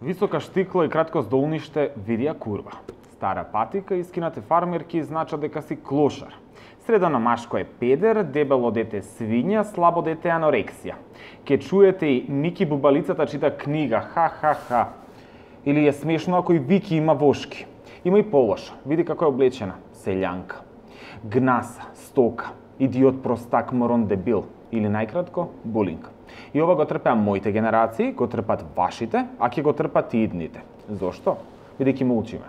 Висока штикла и кратко здолниште видија курва. Стара патика и скинате фармерки значат дека си клошар. Средано машко е педер, дебело дете свиња, слабо дете анорексија. Ке чуете и Ники Бубалицата чита книга, ха-ха-ха. Или е смешно ако и Вики има вошки. Има и полошо, види како е облечена, селјанка. Гнаса, стока, идиот, простак, морон, дебил. Или најкратко, булинг. И ова го трпеа моите генерации, го трпат вашите, а ќе го трпат и идните. Зошто? Бидејќи молчиме.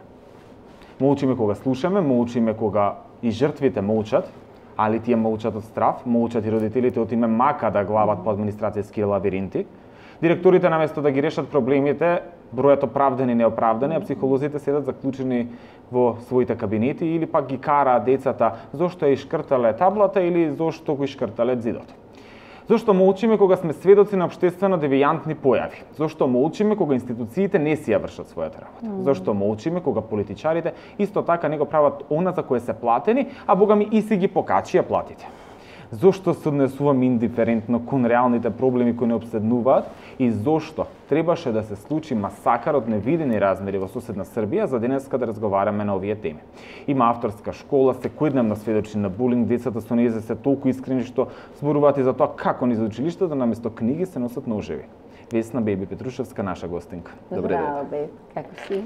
Молчиме кога слушаме, молчиме кога и жртвите молчат, али тие молчат од страв, молчат и родителите од име мака да глават по администрацијски лавиринти. Директорите наместо да ги решат проблемите, бројат оправдани и неоправдани, а психолозите седат заклучени во своите кабинети или пак ги караат децата зошто ја ишкртале таблата или зошто го ишкртале зидот. Зошто молчиме кога сме сведоци на општествено девијантни појави? Зошто молчиме кога институциите не си ја вршат својата работа? Зошто молчиме кога политичарите исто така не го прават она за кое се платени, а богами и си ги покачија платите? Зошто се однесуваме индиферентно кон реалните проблеми кои не обседнуваат и зошто требаше да се случи масакар од невидени размери во соседна Србија за денеска да разговараме на овие теми? Има авторска школа, секојдневно сведочи на булинг, децата со нејзе се толку искрени што зборуваат и за тоа како низ училиштето наместо книги се носат ножеви. Весна Беби Петрушевска, наша гостинка. Добре дете. Здраво, бе, како си?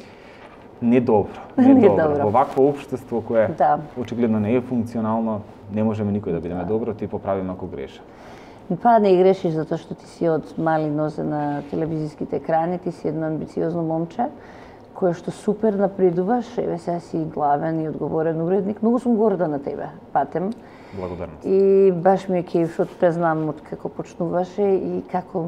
Недобро. Во вакво општество кое очигледно не е функционално, не можеме никој да бидеме добро, ти поправиме ако греша. Па не грешиш затоа што ти си од мали нозе на телевизиските екрани, ти си едно амбициозно момче кое што супер напредуваш, еве сега си главен и одговорен уредник. Многу сум горда на тебе, Патем. Благодарност. И баш ми е кејф што те знам од како почнуваше и како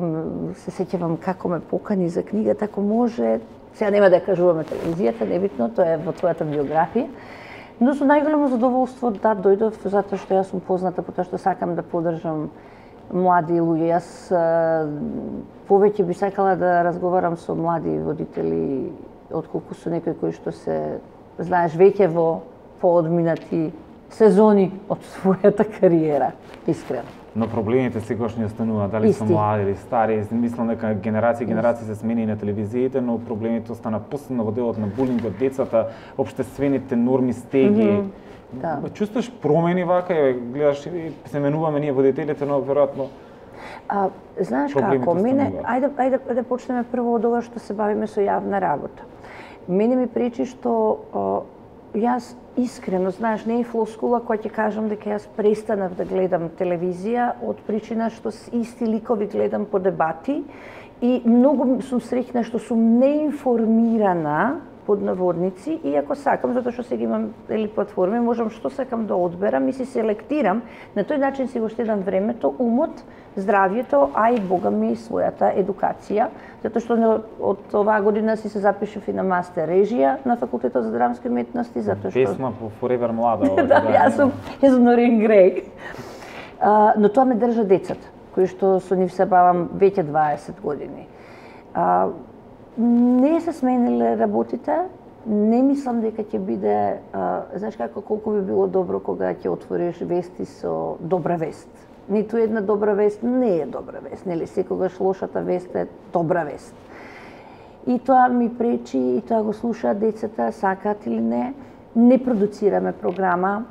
се сеќавам како ме покани за книгата, ако може. Сега нема да ја кажуваме телевизијата, небитно, тоа е во твојата биографија. Но со најголемо задоволство да дојдов затоа што јас сум позната по тоа што сакам да поддржам млади луѓе. Јас повеќе би сакала да разговарам со млади водители отколку со некои кои што се, знаеш, веќе во поодминати сезони од својата кариера, искрено. Но проблемите секогаш не остануваат, дали се млади или стари. Мислам дека генерации се смени и на телевизиите, но проблемите остана посебно во делот на булингот, децата, општествените норми, стеги. Чувствуваш промени вака, гледаш и се менуваме ние водителите, но веројатно знаеш како, мене, ајде да почнеме прво од ова што се бавиме со јавна работа. Мене ми пречи што јас искрено, знаеш, не е флоскула која ќе кажам дека јас престанав да гледам телевизија од причина што исти ликови гледам по дебати и многу сум среќна што сум неинформирана под наводници, и ако сакам, затоа што сега имам платформи, можам што сакам да одберам и се селектирам, на тој начин си го штедам времето, умот, здравјето, а и бога ми својата едукација, затоа што од оваа година си се запишав и на мастер режија на Факултетот за драмски уметности, затоа што песма по Forever млада. Да, јас сум Норин Греј. Но тоа ме држа децата, кои што со нив се бавам веќе 20 години. Не се смениле работите, не мислам дека ќе биде, знаеш како, колку би било добро кога ќе отвориш вести со добра вест. Ниту една добра вест не е добра вест, нели, секогаш лошата вест е добра вест. И тоа ми пречи, и тоа го слушаат децата, сакаат или не. Не продуцираме програма.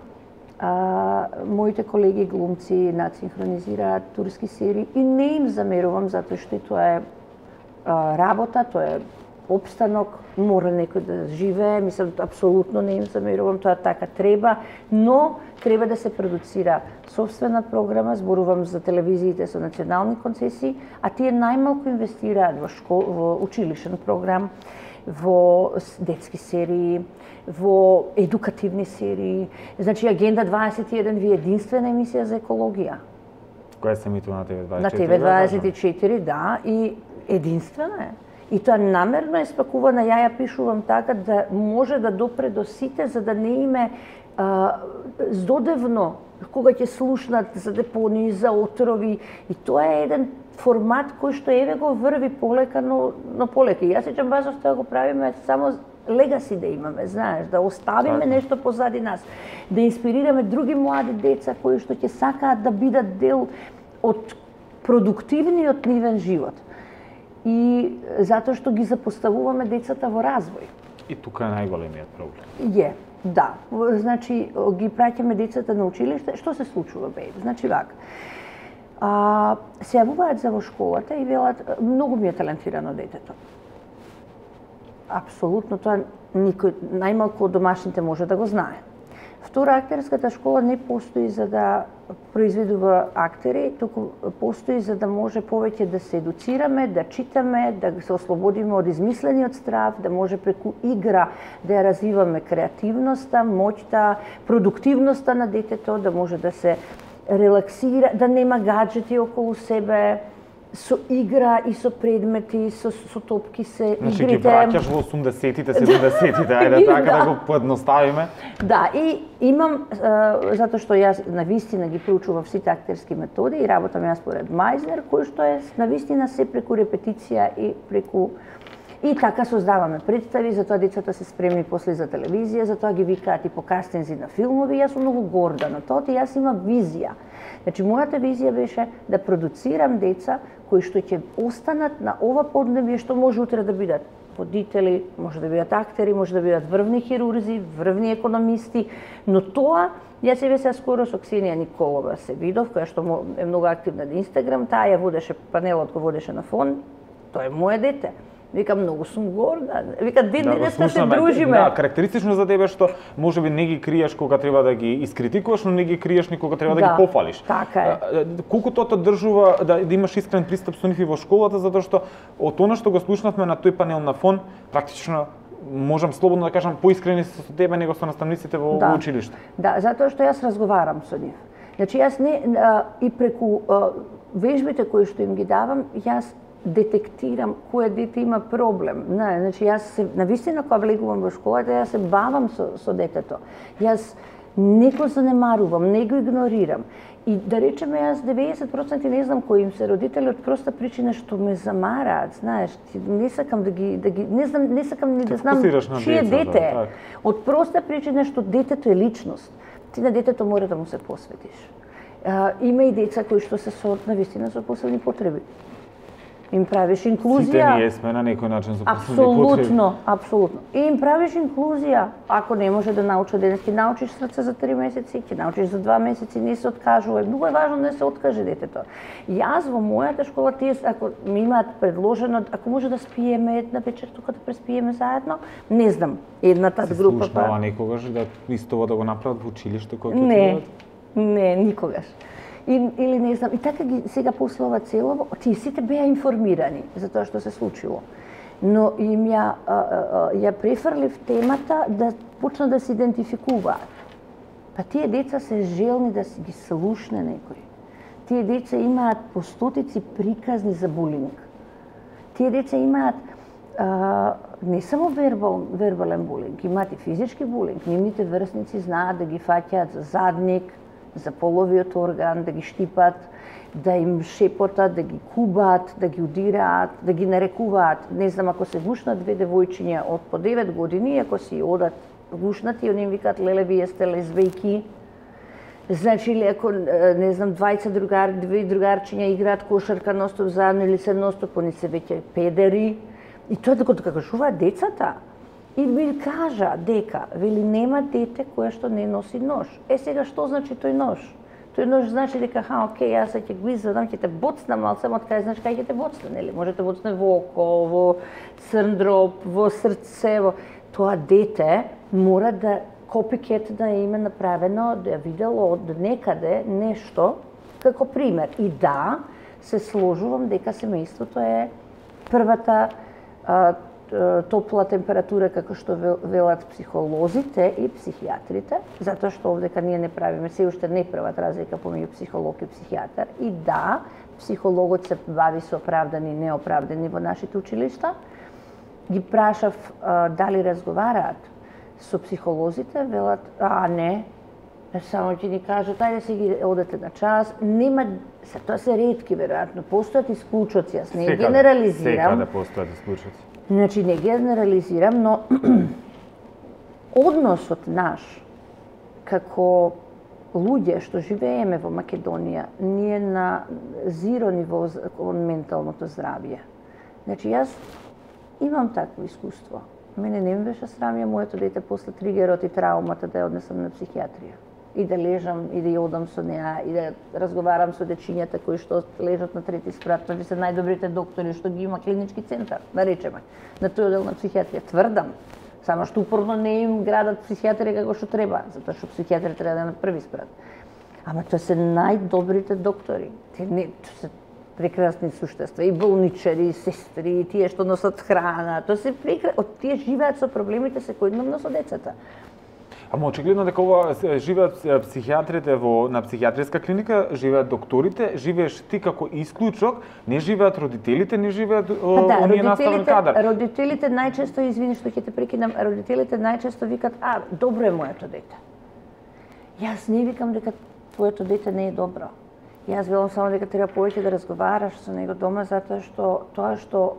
Моите колеги глумци надсинхронизираат турски серии и не им замерувам затоа што тоа е работа, тоа е опстанок, мора некој да живее, мислам, апсолутно не им замерувам, тоа така треба, но треба да се продуцира сопствена програма, зборувам за телевизиите со национални концесии, а тие најмалку инвестираат во училишен програм, во детски серии, во едукативни серии. Значи, Агенда 21 ви е единствена емисија за екологија. Која се емитува на ТВ24? На ТВ24, да, и единствена е. И тоа намерно е спакувана, ја пишувам така да може да допре до сите, за да не име здодевно кога ќе слушнат за депонии, за отрови. И тоа е еден формат кој што еве го врви полека, но полека. Јас сеќам базов тоа го правиме само легаси да имаме, знаеш, да оставиме нешто позади нас, да инспирираме други млади деца кои што ќе сакаат да бидат дел од продуктивниот нивен живот. и затоа што ги запоставуваме децата во развој. И тука е најголемиот проблем. Е, да. Значи, ги праќаме децата на училиште, што се случува, бе? Значи, вака. Се јавуваат за во школата и велат, многу ми е талентирано детето. Апсолутно, тоа никој, најмалку од домашните може да го знае. Втора, актерската школа не постои за да произведува актери, туку постои за да може повеќе да се едуцираме, да читаме, да се ослободиме од измислениот страв, да може преку игра да ја развиваме креативноста, моќта, продуктивноста на детето, да може да се релаксира, да нема гаджети околу себе, со игра и со предмети, со топки се значи, игрите. Значи, ги враќаш во 80-тите, 70-тите, ајде така да го поедноставиме. Да, и имам, затоа што јас навистина ги проучував сите актерски методи и работам јас според Мајзнер, кој што е навистина се преку репетиција и преку и така создаваме представи, затоа децата се спремни после за телевизија, затоа ги викаат и по кастинзи на филмови, јас сум многу горда на тоа, и јас имам визија. Значи, мојата визија беше да продуцирам деца кои што ќе останат на ова поднебје, што може утре да бидат водители, може да бидат актери, може да бидат врвни хирурзи, врвни економисти, но тоа, јас се скоро со Ксенија Николова се видов, која што е многу активна на Инстаграм, таа ја водеше, панелот го водеше на фон, тоа е моје дете. Вика, многу сум горда. Вика, денеска се дружиме. Да, карактеристично за тебе што можеби не ги криеш кога треба да ги искритикуваш, но не ги криеш ни кога треба да ги пофалиш. Така е. Колку тоа држува да имаш искрен пристап со нив и во школата, затоа што од она што го слушнавме на тој панел на фон, практично можам слободно да кажам поискрени со тебе него со наставниците во училиште. Да, затоа што јас разговарам со нив. Значи јас не и преку вежбите кои што им ги давам, јас детектирам кој дете има проблем. Значи, јас се, навистина кога влегувам во школата, јас се бавам со детето. Јас не го занемарувам, не го игнорирам. И да речеме, јас 90% не знам кои им се родители од проста причина што ме замараат, знаеш, не сакам да ги не сакам ни да знам чие дете е. Од проста причина што детето е личност. Ти на детето мора да му се посветиш. Има и деца кои што се со навистина со посебни потреби. Им правиш инклузија. Сите ние сме на некој начин со посебни потреби. Апсолутно. И им правиш инклузија. Ако не може да научи денес, ќе научиш срце за 3 месеци, ќе научиш за 2 месеци, не се откажувај. Многу е важно да се откаже детето. Јас во мојата школа, тие ако ми имаат предложено, ако може да спиеме една вечер тука да преспиеме заедно, не знам, едната група се слушнава некогаш да исто да го направат во училиште кога Не, никогаш. Или не знам, и така ги сега после ова целово, тие сите беа информирани за тоа што се случило. Но им ја префрлив темата да почна да се идентификуваат. Па тие деца се желни да ги слушне некој. Тие деца имаат по стотици приказни за булинг. Тие деца имаат не само вербален булинг, имаат и физички булинг. Нивните врсници знаат да ги фаќаат за задник, за половиот орган, да ги штипат, да им шепотат, да ги кубаат, да ги удираат, да ги нарекуваат. Не знам, ако се гушнат две девојчиња од по 9 години, ако си одат гушнати, они им викаат леле, вие сте лезвејки. Значи, ако, не знам, две другарчиња играат кошарка ностоп заедно или се ностоп, они се веќе педери. И тоа да го кажуваат децата. И ми кажа дека, вели, нема дете кое што не носи нож. Сега, што значи тој нож? Тој нож значи дека, окей, јас ќе го извадам, ќе те боцнам, ал само од кај знаеш кај ќе те боцне, нели? Може те боцне во око, во црн дроб, во срце, во... Тоа дете мора да копикет да име направено, да ја видело од некаде нешто, како пример. И да, се сложувам дека семејството е првата топла температура, како што велат психолозите и психијатрите, затоа што овдека ние не правиме, се уште не прават разлика помеѓу психолог и психијатар. И да, психологот се бави со оправдани и неоправдани во нашите училишта. Ги прашав дали разговараат со психолозите, велат, не, само ќе ни кажат, ајде се ги одете на час, нема, тоа се ретки веројатно, постојат исклучоци, јас не генерализирам. Секаде постојат исклучоци. Значи, не генерализирам, но односот наш, како луѓе што живееме во Македонија, ние на зиро ниво кон менталното здравје. Значи, јас имам такво искуство. Мене не ми беше срам ја моето дете после тригерот и траумата да ја однесам на психијатрија. И да лежам, и да ја одам со неа, и да разговарам со дечињата кои што лежат на трети спрат, значи се најдобрите доктори што ги има клинички центар, да речеме, на тој одел на психијатрија. Тврдам, само што упорно не им градат психијатрија како што треба, затоа што психијатрија треба да е на први спрат. Ама тоа се најдобрите доктори. Те не се прекрасни суштества, и болничари, и сестри, и тие што носат храна, тоа се тие живеат со проблемите секојдневно со децата. Ама очигледно дека ова живеат психијатрите на психијатриска клиника, живеат докторите, живееш ти како исклучок, не живеат родителите, не живеат оние наставен кадар. Родителите најчесто, извини што ќе те прекинам, родителите најчесто викат, добро е моето дете. Јас не викам дека твоето дете не е добро. Јас велам само дека треба повеќе да разговараш со него дома, затоа што тоа што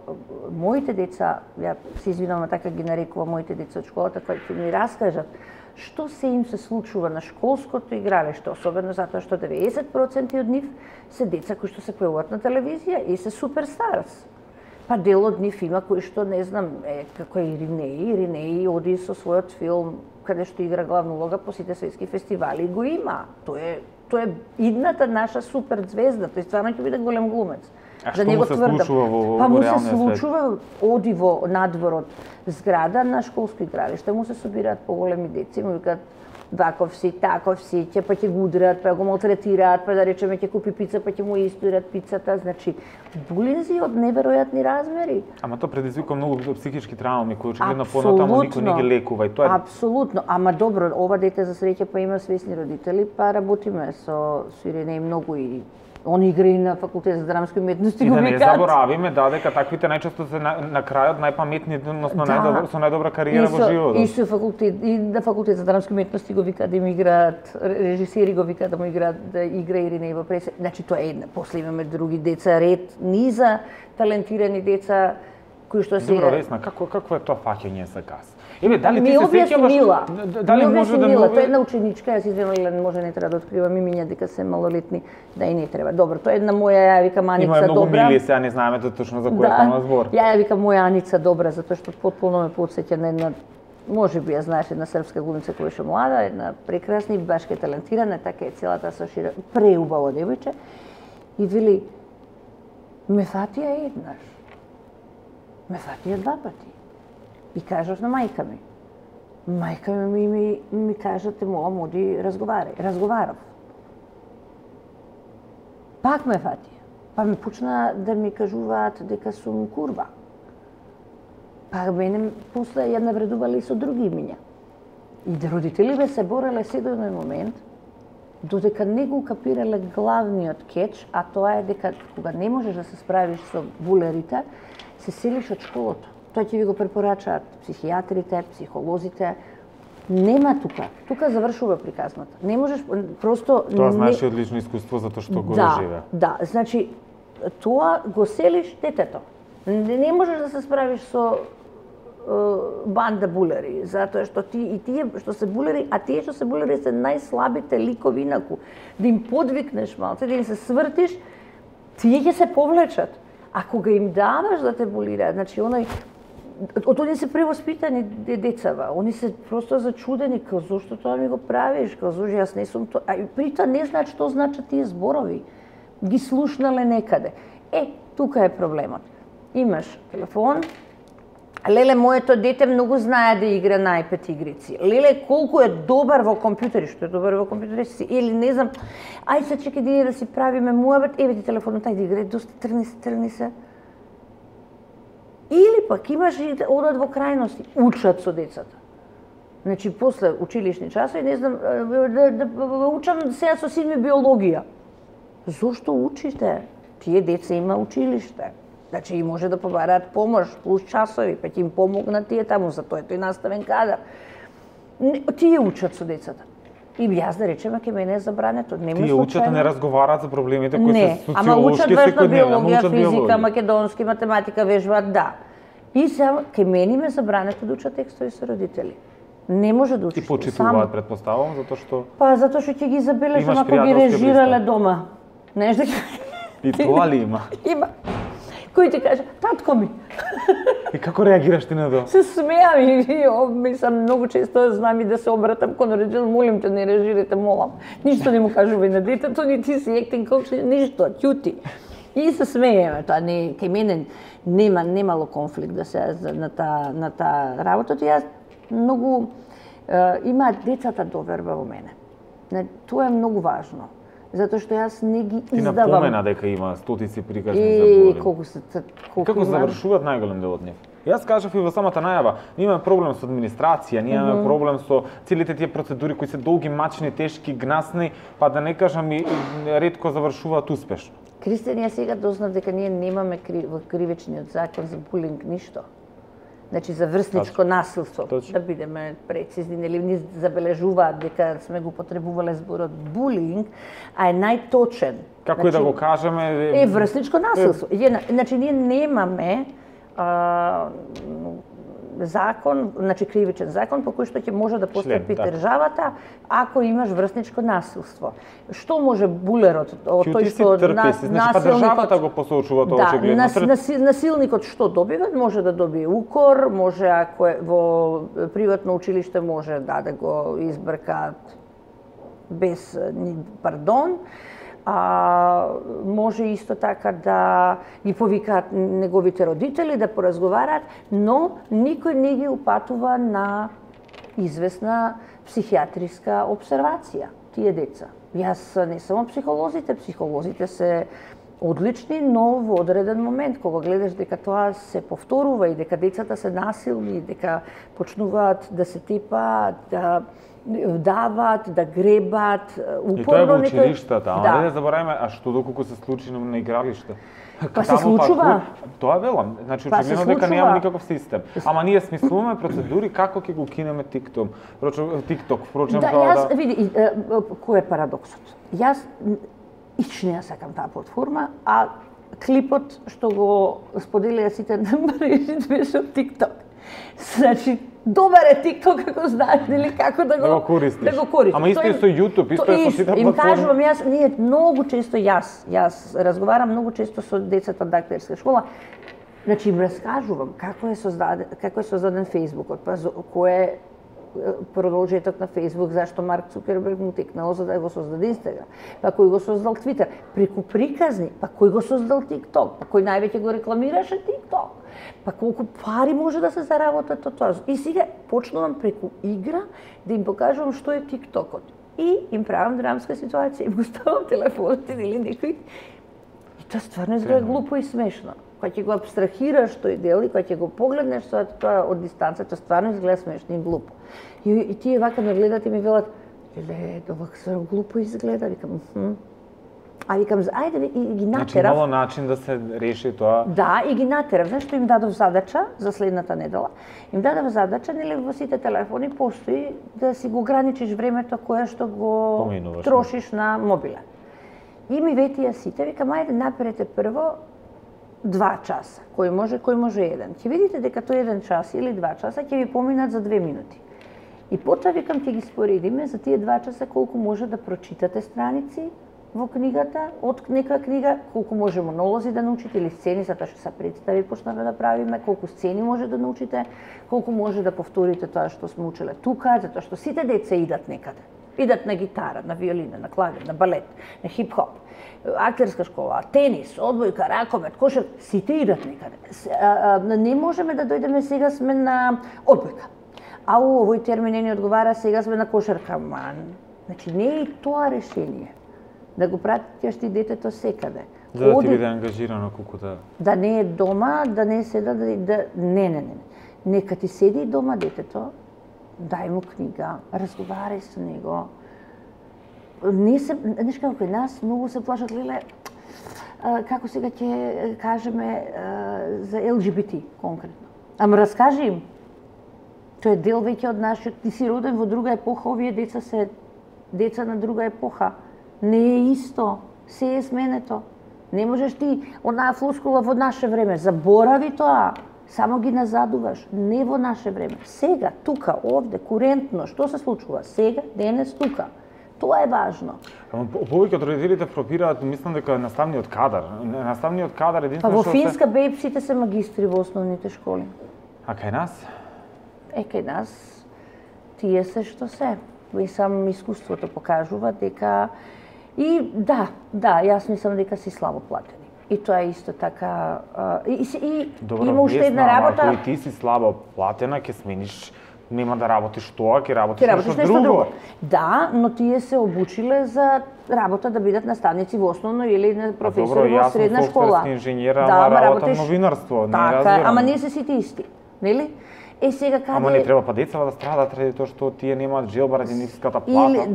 моите деца, ја се извинувам, така ги нарекувам моите деца од школата, кои ќе ми раскажат што се им се случува на школското игралиште, особено затоа што 90% од нив се деца кои што се појавуваат на телевизија и се суперстарс. Па дел од нив има кои што, не знам, како е Иринеи оди со својот филм каде што игра главна улога по сите светски фестивали и го има. Тоа е идната наша супер звезда, тој стварно ќе биде голем глумец. А што му се случува во реалниот свет? Му се случува, оди во надворот зграда на школско игралиште, му се собираат поголеми деца, му викаат ваков си, таков си, па ќе го удрат, па го малтретираат, па да речеме ќе купи пица, па ќе му истурат пицата, значи булинзи од неверојатни размери. Ама тоа предизвикува многу психички травми кои очигледно понатаму никој не ги лекува и тоа е... Апсолутно, ама добро, ова дете за среќа па има свесни родители, па работиме со Ирина и многу и он игра и на факултет за драмски уметности. И да не заборавиме дека таквите најчесто се на крајот најпаметни, односно со најдобра кариера во животот. И со факултет, и на факултет за драмски уметности го викаат да им играат, режисери го викаат да му играат, да игра Ирина и во пресе. Значи тоа е една. После имаме други деца, ред, низа талентирани деца кои што се... Добро, Весна, какво е тоа фаќање за газ? Еве, дали ти се сеќаваш? Дали може да тоа е една ученичка, јас извинувам, може не треба да откривам имиња дека се малолетни, да и не треба. Добро, тоа е една моја, ја викам Аница Добра. Има многу мили, сега не знаеме точно за која станува збор. Ја викам моја Аница Добра, затоа што потполно ме потсеќа на една, може би ја знаеш, една српска глумица која беше млада, една прекрасна и башка талентирана, така е целата сошира, преубаво девојче. И вели, ме фатија еднаш. Ме фатија два пати. И кажав на мајка ми. Мајка ми кажа, те молам, оди разговарај. Разговарав. Пак ме фатија. Па ми почна да ми кажуваат дека сум курва. Па мене после ја навредувале и со други имиња. И да родителиве се бореле се до еден момент, додека не го капирале главниот кетч, а тоа е дека кога не можеш да се справиш со булерите, се селиш од школото. Тоа ќе ви го препорачаат психијатрите, психолозите. Нема тука. Тука завршува приказната. Не можеш просто... Тоа знаеш од лично искуство затоа што го доживеа. Да, значи тоа го селиш детето. Не можеш да се справиш со банда булери, затоа што и тие што се булери, а тие што се булери се најслабите ликови инаку. Да им подвикнеш малце, да им се свртиш, тие ќе се повлечат. А кога им даваш да те булираат, значи оној они се превоспитани децава, они се просто зачудени, као зошто тоа ми го правиш, као зошто јас не сум тоа, а при тоа не знаат што значат тие зборови. Ги слушнале некаде. Тука е проблемот. Имаш телефон, леле, моето дете многу знае да игра на iPad игрици. Леле, колку е добар во компјутери, што е добар во компјутери си, или не знам, ај се чекај да си правиме муабет, еве ти телефонот, ајде играј, доста тргни се. Или пак имаш и одат во крајности, учат со децата. Значи, после училишни часови, не знам, да учам сега со син ми биологија. Зошто учите? Тие деца има училиште. Значи, и може да побараат помош, плюс часови, па ќе им помогнат тие таму, за тоа е тој наставен кадар. Тие учат со децата. И јас да речеме, ке мене е забрането. Тие учат, не разговараат за проблемите кои се социолошки, ама учат важна биологија, физика, македонски, математика, вежбаат, да. И сега, ке мене ме забрането да учат текстови со родители. Не може да учиш. И почитуваат, предпоставувам, затоа што... Па, затоа што ќе ги забележам ако ги режирале дома. Знаеш дека... И тоа ли има? Има. кој ти каже, татко ми. И како реагираш ти на тоа? Се смеам и мислам многу често знам и да се обратам кон родител, молим те не реагирате, молам. Ништо не му кажувај на детето, ни ти си acting coach, ништо, ќути. И се смееме, тоа не кај мене немало конфликт да се на таа работа, јас многу има децата доверба во мене. Тоа е многу важно. Затоа што јас не ги издавам. Ти напомена дека има стотици приказни за Бурин. Како завршуваат најголем дел од нив? Јас кажав и во самата најава, ние имаме проблем со администрација, ние имаме проблем со целите тие процедури кои се долги, мачни, тешки, гнасни, па да не кажам и ретко завршуваат успешно. Кристијан, јас сега дознав дека ние немаме во кривичниот закон за булинг ништо. Значи за врсничко насилство, да бидеме прецизни, нели ни забележуваат дека сме го потребувале зборот булинг, а е најточен. Како и да го кажеме... Е врсничко насилство. Значи ние немаме закон, значи кривичен закон по кој што ќе може да постапи државата ако имаш врсничко насилство. Што може булерот, тој што државата го посочува тоа очигледно. Насилникот што добива? Може да добие укор, може ако е во приватно училиште може да го избркаат без пардон. Може исто така да ги повикаат неговите родители, да поразговараат, но никој не ги упатува на известна психијатриска обсервација, тие деца. Јас не само психолозите се одлични, но во одреден момент, кога гледаш дека тоа се повторува и дека децата се насилни, дека почнуваат да се тепаат, да дават, да гребат, упорно некој... И тоа е во училиштата, ама не забораваме, а што доколку се случи на игралиште? Па се случува. Тоа велам, значи очигледно дека нема никаков систем. Ама ние смислуваме процедури како ќе го кинеме TikTok. Впрочем, да, јас види кој е парадоксот. Јас ичне ја сакам таа платформа, а клипот што го споделија сите на мрежите беше од TikTok. Значи добар е TikTok како знаеш нели како да го користиш. Да го користиш. Ама исто е со YouTube, исто е со сите платформи. Им кажувам јас, ние многу често јас разговарам многу често со децата од актерска школа. Значи им раскажувам како е создаден Facebook, па кој е продолжеток на Facebook, зашто Марк Цукерберг му текнало за да го создаде Инстаграм, па кој го создал Твитер, преку приказни, па кој го создал TikTok, па кој највеќе го рекламираше TikTok, па колку пари може да се заработат од тоа. И сега почнувам преку игра да им покажувам што е TikTokот. И им правам драмска ситуација, им го ставам телефонот или некој. И тоа стварно изгледа глупо и смешно. Кога ќе го абстрахираш тој дел и кога ќе го погледнеш тоа од дистанца, тоа стварно изгледа смешно и глупо. И тие вака ме гледат и ми велат, леле, ова стварно глупо изгледа, викам, А викам, ајде и ги натерав. Значи имало начин да се реши тоа? Да, и ги натерав. Знаеш што им дадов задача за следната недела? Им дадов задача, нели во сите телефони постои да си го ограничиш времето кое што го трошиш на мобилен. И ми ветија сите, викам, ајде наперете прво 2 часа, кој може 1. Ќе видите дека тој 1 час или 2 часа ќе ви поминат за 2 минути. И потоа викам ќе ги споредиме за тие 2 часа колку може да прочитате страници во книгата, од некоја книга, колку може монолози да научите или сцени, затоа што се представи почнаме да правиме, колку сцени може да научите, колку може да повторите тоа што сме учеле тука, затоа што сите деца идат некаде. Идат на гитара, на виолина, на клавир, на балет, на хип-хоп, актерска школа, тенис, одбојка, ракомет, кошер, сите идат некаде. Не можеме да дојдеме сега сме на одбојка. А овој термин не одговара, сега сме на кошерка. Значи не е и тоа решение. Да го пратиш ти детето секаде. Да ти биде ангажирано колку да... Да не е дома, да не седа, Не. Нека ти седи дома детето, дај му книга, разговарај со него. Знаеш како нас многу се плашат, леле, како сега ќе кажеме за ЛГБТ конкретно. Ама раскажи им. Тоа е дел веќе од нашиот, ти си роден во друга епоха, овие деца се деца на друга епоха. Не е исто, се е сменето. Не можеш ти онаа флускула во наше време, заборави тоа. Само ги назадуваш, не во наше време. Сега, тука, овде, курентно, што се случува? Сега, денес, тука. Тоа е важно. Повеќе од родителите фрапираат, мислам дека наставниот кадар. Наставниот кадар Па единствено во што Финска бејпсите се магистри во основните школи. А кај нас? Кај нас тие се што се. И сам искуството покажува дека и да, јас мислам дека си слабо платени. И тоа е исто така Добро, има уште една работа. Ако и ти си слабо платена, ќе смениш, нема да работиш тоа, ќе работиш нешто друго. Да, но тие се обучиле за работа да бидат наставници во основно или професори во средна школа. Добро, јас сум инженер, ама работам новинарство, не разбирам. Така, ама не се сите исти, нели? Сега каде... Ама не треба па децата да страдат ради тоа што тие немаат желба ради ниската плата.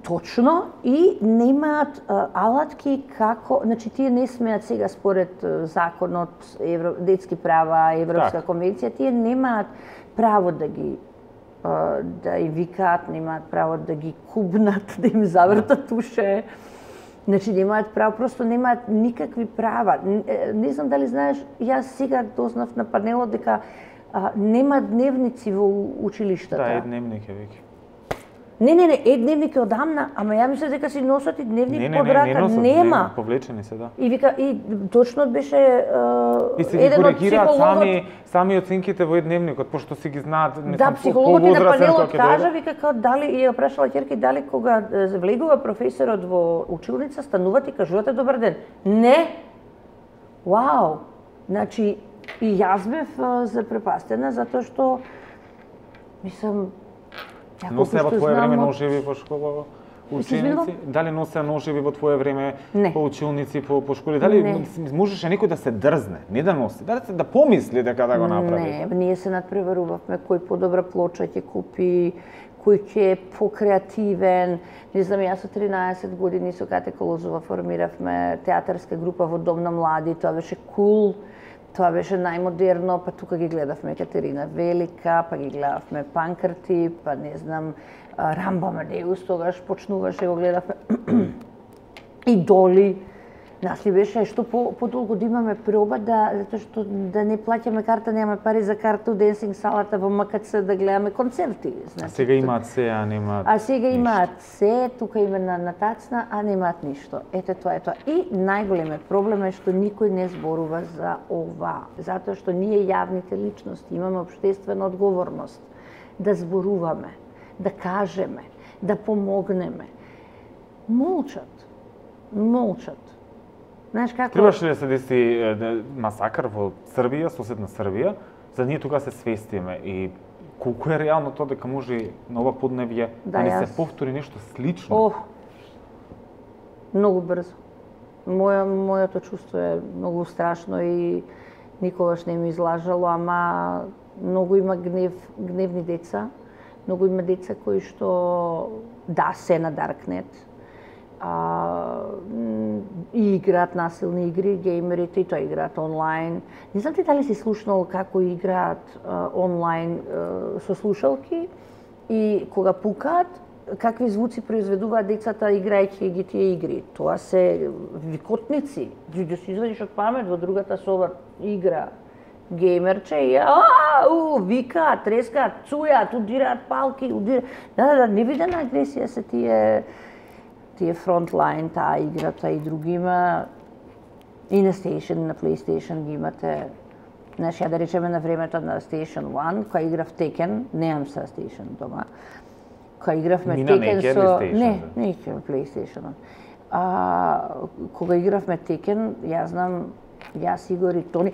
Точно, и немаат алатки како, значи тие не смеат сега според законот, детски права, Европска конвенција, тие немаат право да ги да им викаат, немаат право да ги кубнат, да им завртат уше. Значи немаат право, просто немаат никакви права. Не знам дали знаеш, јас сега дознав на панелот дека нема дневници во училиштата. Да, едневник е веќе. Не, едневник е одамна, ама ја мислам дека си носат и дневник под рака. Нема. Повлечени се, да. И вика, и точно беше и се ги коригираат сами оценките во едневникот, пошто си ги знаат, да, психологот и на панелот кажа, вика, како дали, и ја прашала ќерки, дали кога влегува професорот во училница, станувате и кажувате добар ден. Не! Вау! Значи, и јас бев запрепастена, затоа што, мислам, носе во твое време ножеви во школа ученици? Дали носе ножеви во твое време по училници, по школи? Дали можеше некој да се дрзне, не да носи, да помисли дека да го направи? Не, ние се надпреварувавме кој подобра плоча ќе купи, кој ќе е покреативен. Не знам, јас со 13 години со Кате Колозова формиравме театарска група во Дом на млади, тоа беше кул. Тоа беше најмодерно, па тука ги гледавме Екатерина Велика, па ги гледавме Панкрти, па не знам, Рамбо Амадеус тогаш почнуваше, го гледавме. Идоли. Нас ли беше што подолго да имаме проба, затоа што да не плаќаме карта, немаме пари за карта у денсинг салата во МКЦ да гледаме концерти. Значи, сега имаат се, а немаат. А сега имаат се, тука има на тацна, а немаат ништо. Ете тоа е тоа. И најголемиот проблем е што никој не зборува за ова, затоа што ние јавните личности имаме општествена одговорност да зборуваме, да кажеме, да помогнеме. Молчат. Знаеш како? Требаше ли да се деси масакар во Србија, соседна Србија, за да ние тука се свестиме и колку е реално тоа дека може на ова подневје да не се повтори нешто слично? Многу брзо. Моето чувство е многу страшно и никогаш не ми излажало, ама многу има гневни деца, многу има деца кои што се на Даркнет, и играат насилни игри, геймерите, и тоа играат онлайн. Не знам ти дали си слушнал како играат онлайн со слушалки и кога пукаат, какви звуци произведуваат децата играјќи ги тие игри. Тоа се викотници. Да си извадиш од памет во другата соба игра геймерче и викаат, трескаат, цујаат, удираат палки, Да, невидена агресија се тие фронтлайн, таа играта и други има. И на PlayStation ги имате. Знаеш, ја да речеме на времето на Station 1, која играв Tekken, немам са Station дома, која игравме Tekken со... Не играв PlayStation 1. Кога игравме Tekken, јас знам, јас, Игор и Тони,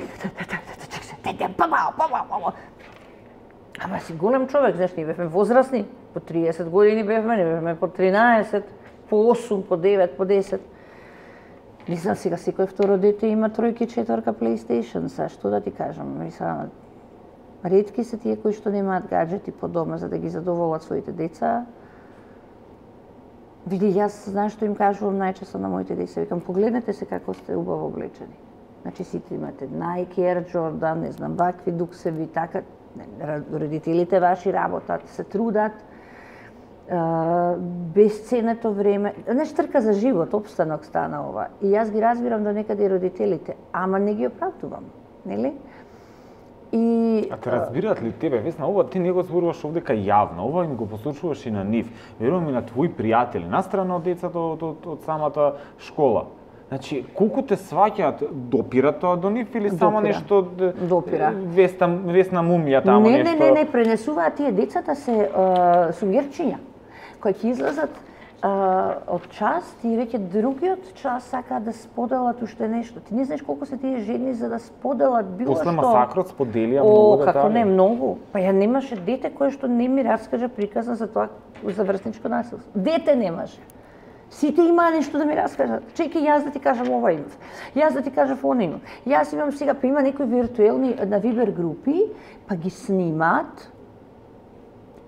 ама си голем човек, знаеш, ние бевме возрастни, по 30 години бевме, не бевме по 13, по 8, по 9, по 10. Не знам, сега секој второ дете има 3-4 PlayStation, са што да ти кажам, мислам, ретки се тие кои што немаат гаджети по дома за да ги задоволат своите деца. Види, јас знаеш што им кажувам најчесто на моите деца, викам, погледнете се како сте убаво облечени. Значи сите имате Nike, Air Jordan, не знам, вакви дуксеви, така, родителите ваши работат, се трудат, безценето време, знаеш, трка за живот, опстанок стана ова. И јас ги разбирам до некаде и родителите, ама не ги оправдувам, нели? И А те разбираат ли тебе, Весна, ова ти не го зборуваш овдека јавно, ова им го послушуваш и на нив, верувам и на твои пријатели, настрана од децата од самата школа. Значи, колку те сваќаат, допира тоа до нив или само Допира. нешто Допира. Весна мумија тамо не, нешто? не, пренесуваат тие децата се сунгерчиња, кои ќе излезат од час, и веќе другиот час сакаат да споделат уште нешто. Ти не знаеш колку се тие жени за да споделат било После што. масакрот споделија многу детали. Како не, многу. Па ја немаше дете кое што не ми раскажа приказна за тоа за врсничко насилство. Дете немаше. Сите имаа нешто да ми раскажат. Чекај, јас да ти кажам ова имав. Јас да ти кажав она имав. Јас имам сега, па има некои виртуелни на Вибер групи, па ги снимаат,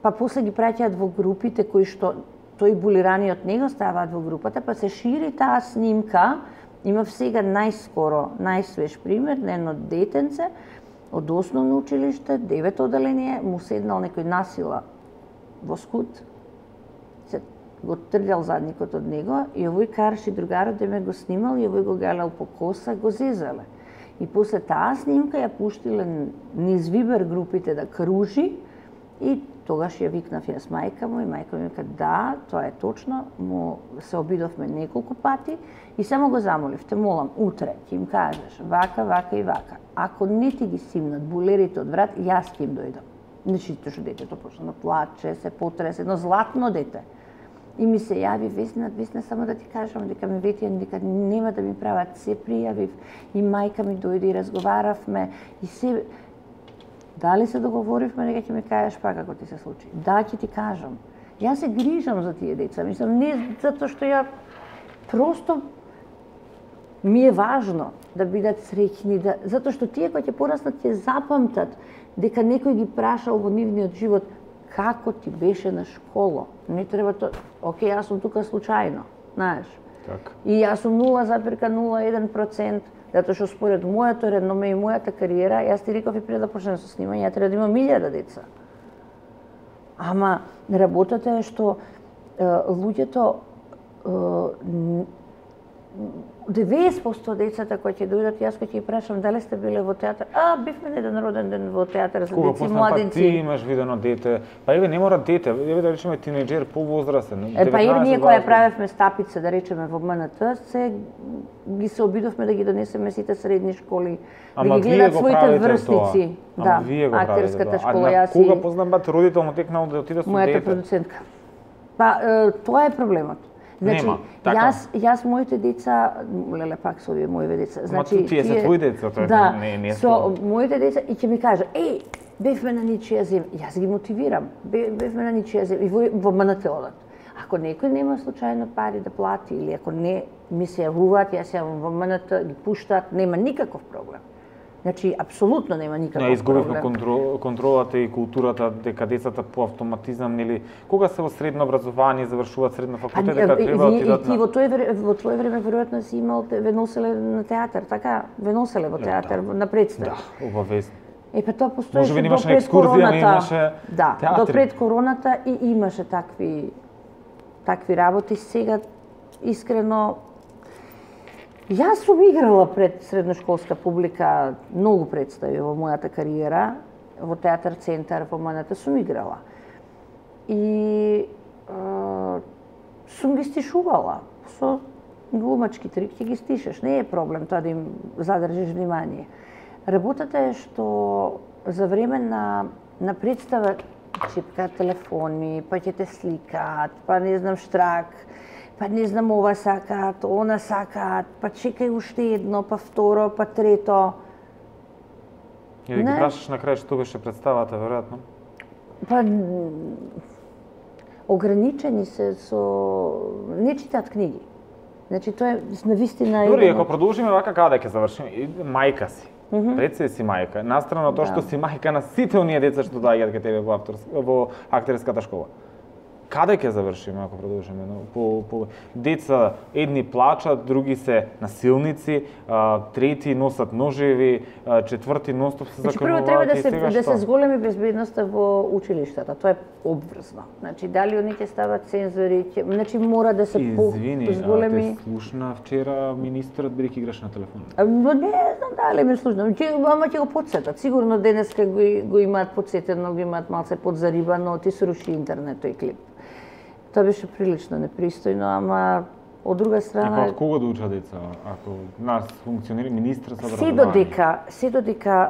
па после ги праќаат во групите кои што тој булирани од него ставаат во групата, па се шири таа снимка. Имав сега најскоро, најсвеж пример на едно детенце од основно училиште, 9 оделение, му седнал некој насила во скут, се го трљал задникот од него и овој карши другарот да ме го снимал и овој го галел по коса, го зезале. И после таа снимка ја пуштиле низ Вибер групите да кружи и тогаш ја викнав јас мајка му и мајка ми вика да, тоа е точно, му се обидовме неколку пати и само го замолив, те молам, утре ќе им кажеш вака, вака и вака. Ако не ти ги симнат булерите од врат, јас ќе им дојдам. Значи, што детето почна да плаче, се потресе, едно златно дете. И ми се јави Весна, само да ти кажам, дека ми ветија, дека нема да ми прават, се пријавив и мајка ми дојде и разговаравме и се. Дали се договоривме дека ќе ми кажеш па како ти се случи? Да, ќе ти кажам. Јас се грижам за тие деца, мислам, не затоа што ја просто ми е важно да бидат среќни, затоа што тие кои ќе пораснат ќе запамтат дека некој ги прашал во нивниот живот како ти беше на школа. Не треба тоа. Океј, јас сум тука случајно, знаеш. Така. И јас сум 0,01%, затоа што според моето реноме и мојата кариера, јас ти реков и пред да почнем со снимање, ја треба да имам 1000 деца. Ама работата е што луѓето 90% децата кои ќе дојдат, јас кој ќе ги прашам дали сте биле во театар, бивме на еден роден ден во театар за Кога деци и посна младенци. Ти имаш видено дете, па еве не мора дете, еве да речеме тинеџер повозрастен. Па и ние 19, која 20. правевме стапица, да речеме во МНТ, се обидовме да ги донесеме сите средни школи, да ги гледат своите врсници. Да, актерската школа, јас и кога познавате родител му текнал да отиде со мојата дете? продуцентка. Па тоа е проблемот. Значи, Нема, така. јас моите деца, леле пак со овие мои деца, значи тие се твои деца, тоа да, не со моите деца и ќе ми кажа, бевме на ничија земја, јас ги мотивирам, бевме на ничија земја и во МНТ одат. Ако некој нема случајно пари да плати или ако не ми се јавуваат, јас јавам во МНТ, ги пуштаат, нема никаков проблем. Значи, апсолутно нема никаков проблем. Изгубивме контролата и културата дека децата по автоматизам или кога се во средно образование завршуваат средно факултет дека треба да отидат ти во твое време веројатно си имал ве носеле на театар, така? Ве носеле во театар на представи. Да, обавезно. Па тоа постоеше Можеби до немаше пред екскурзија, короната. имаше Да, театри. до пред короната и имаше такви работи. Сега искрено јас сум играла пред средношколска публика многу представи во мојата кариера, во театар центар, во МНТ сум играла. И сум ги стишувала со глумачки трик, ќе ги стишеш, не е проблем тоа да им задржиш внимание. Работата е што за време на представа чипкаат телефони, па ќе те сликаат, па не знам штрак, па не знам ова сакаат, она сакаат, па чекај уште едно, па второ, па трето. И да ги прашаш на крај што беше представата, веројатно? Па ограничени се со не читаат книги. Значи тоа е навистина Добре, ако продолжиме вака каде ќе завршиме? Мајка си. Представи си мајка. Настрана тоа што си мајка на сите оние деца што доаѓаат кај тебе во актерската школа. Каде ќе завршиме ако продолжиме? По деца едни плачат, други се насилници, трети носат ножеви, четврти ностоп се закрнуваат. Прво треба да се зголеми безбедноста во училиштата. Тоа е обврзно. Значи дали они ќе стават цензори, значи мора да се зголеми. Извини, те слушна вчера министерот бидејќи играш на телефон. Не знам дали ме слушна. Ама ќе го потсетат. Сигурно денеска го имаат потсетено, го имаат малце подзарибано, ти се руши интернет тој клип. Тоа беше прилично непристојно, ама од друга страна... И од кого да учат деца, ако нас функционира министр за образование? Се додека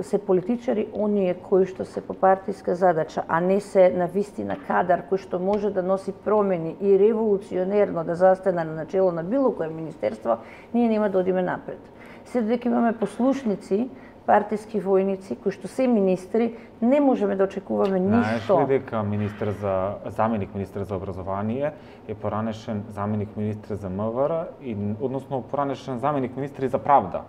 се политичари оние кои што се по партиска задача, а не се на вистина кадар кој што може да носи промени и револуционерно да застане на начело на било кое министерство, ние нема да одиме напред. Се додека имаме послушници, партиски војници кои што се министри, не можеме да очекуваме ништо. Знаеш ли дека заменик министер за образование е поранешен заменик министер за МВР и односно поранешен заменик министер за правда?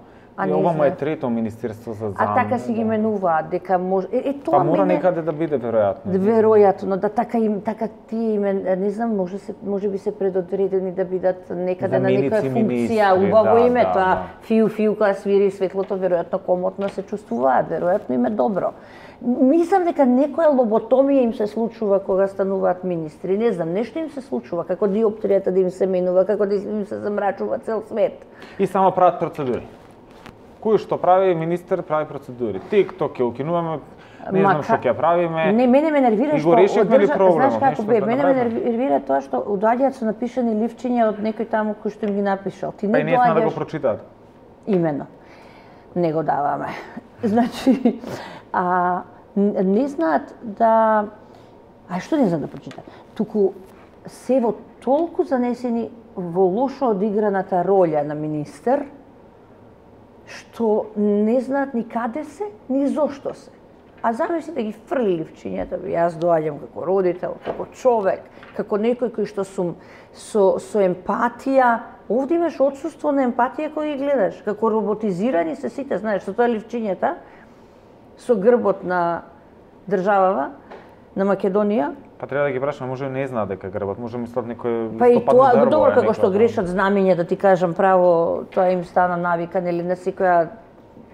И ова му е трето министерство за А така си ги менуваат дека може тоа мора некаде да биде веројатно. Веројатно, да така тие име, не знам, може би се предодредени да бидат некаде на некоја функција, убаво име тоа фиу кога свири светлото, веројатно комотно се чувствуваат, веројатно им е добро. Мислам дека некоја лоботомија им се случува кога стануваат министри. Не знам, нешто им се случува, како диоптријата да им се менува, како да им се замрачува цел свет. И само прават процедури. Кој што прави министер прави процедури. TikTok ќе укинуваме, не знам што ќе правиме. Не, мене ме нервира што знаеш како мене ме нервира тоа што доаѓаат со напишани ливчиња од некој таму кој што им ги напишал. Ти не доаѓаш да го прочитаат. Имено. Не го даваме. Значи, не знаат да што не знаат да прочитаат. Туку се во толку занесени во лошо одиграната роља на министер, што не знаат ни каде се, ни зошто се. А замисли да ги фрли ливчињата, јас доаѓам како родител, како човек, како некој кој што сум со емпатија. Овде имаш отсуство на емпатија кој ги гледаш, како роботизирани се сите, знаеш, со тоа ливчињата, со грбот на државава, на Македонија. Па треба да ги прашаме, може не знаат дека грбот, може мислат некој па и тоа добро како што грешат знамења, да ти кажам право, тоа им стана навика, нели на секоја.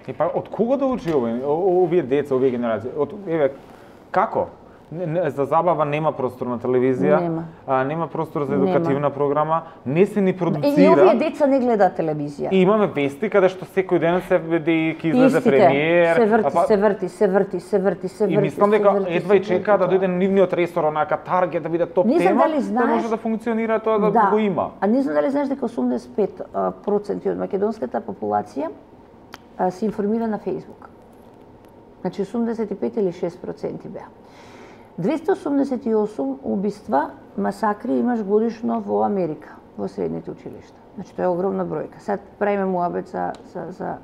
И па од кого да учи овие деца, овие генерации? Еве како? За забава нема простор на телевизија, нема простор за едукативна програма, не се ни продуцира. И овие деца не гледаат телевизија. И имаме вести каде што секој ден се види ќе излезе премиер. Се врти. И мислам дека едва и чека да дојде нивниот ресор, онака таргет да биде топ тема, да може да функционира тоа да го има. А не знам дали знаеш дека 85% од македонската популација се информира на Facebook. Значи 85 или 6% беа. 288 убиства, масакри имаш годишно во Америка, во средните училишта. Значи тоа е огромна бројка. Сад правиме муабет за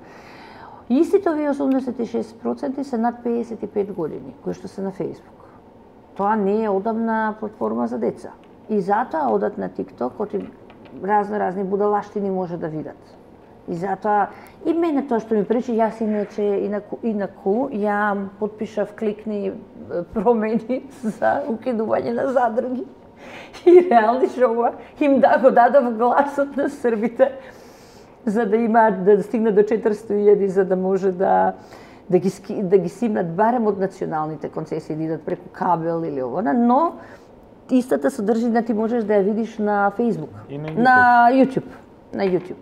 истите овие 86% се над 55 години, кои што се на Facebook. Тоа не е одамна платформа за деца. И затоа одат на TikTok, оти разни будалаштини може да видат. И затоа и мене тоа што ми пречи, јас иначе инаку ја потпишав кликни промени за укидување на задрги. И реални шоува им го дадов гласот на србите за да имаат да стигнат до 400.000 за да може да ги симнат барем од националните концесии да идат преку кабел или овона, но истата содржина ти можеш да ја видиш на Facebook, на YouTube.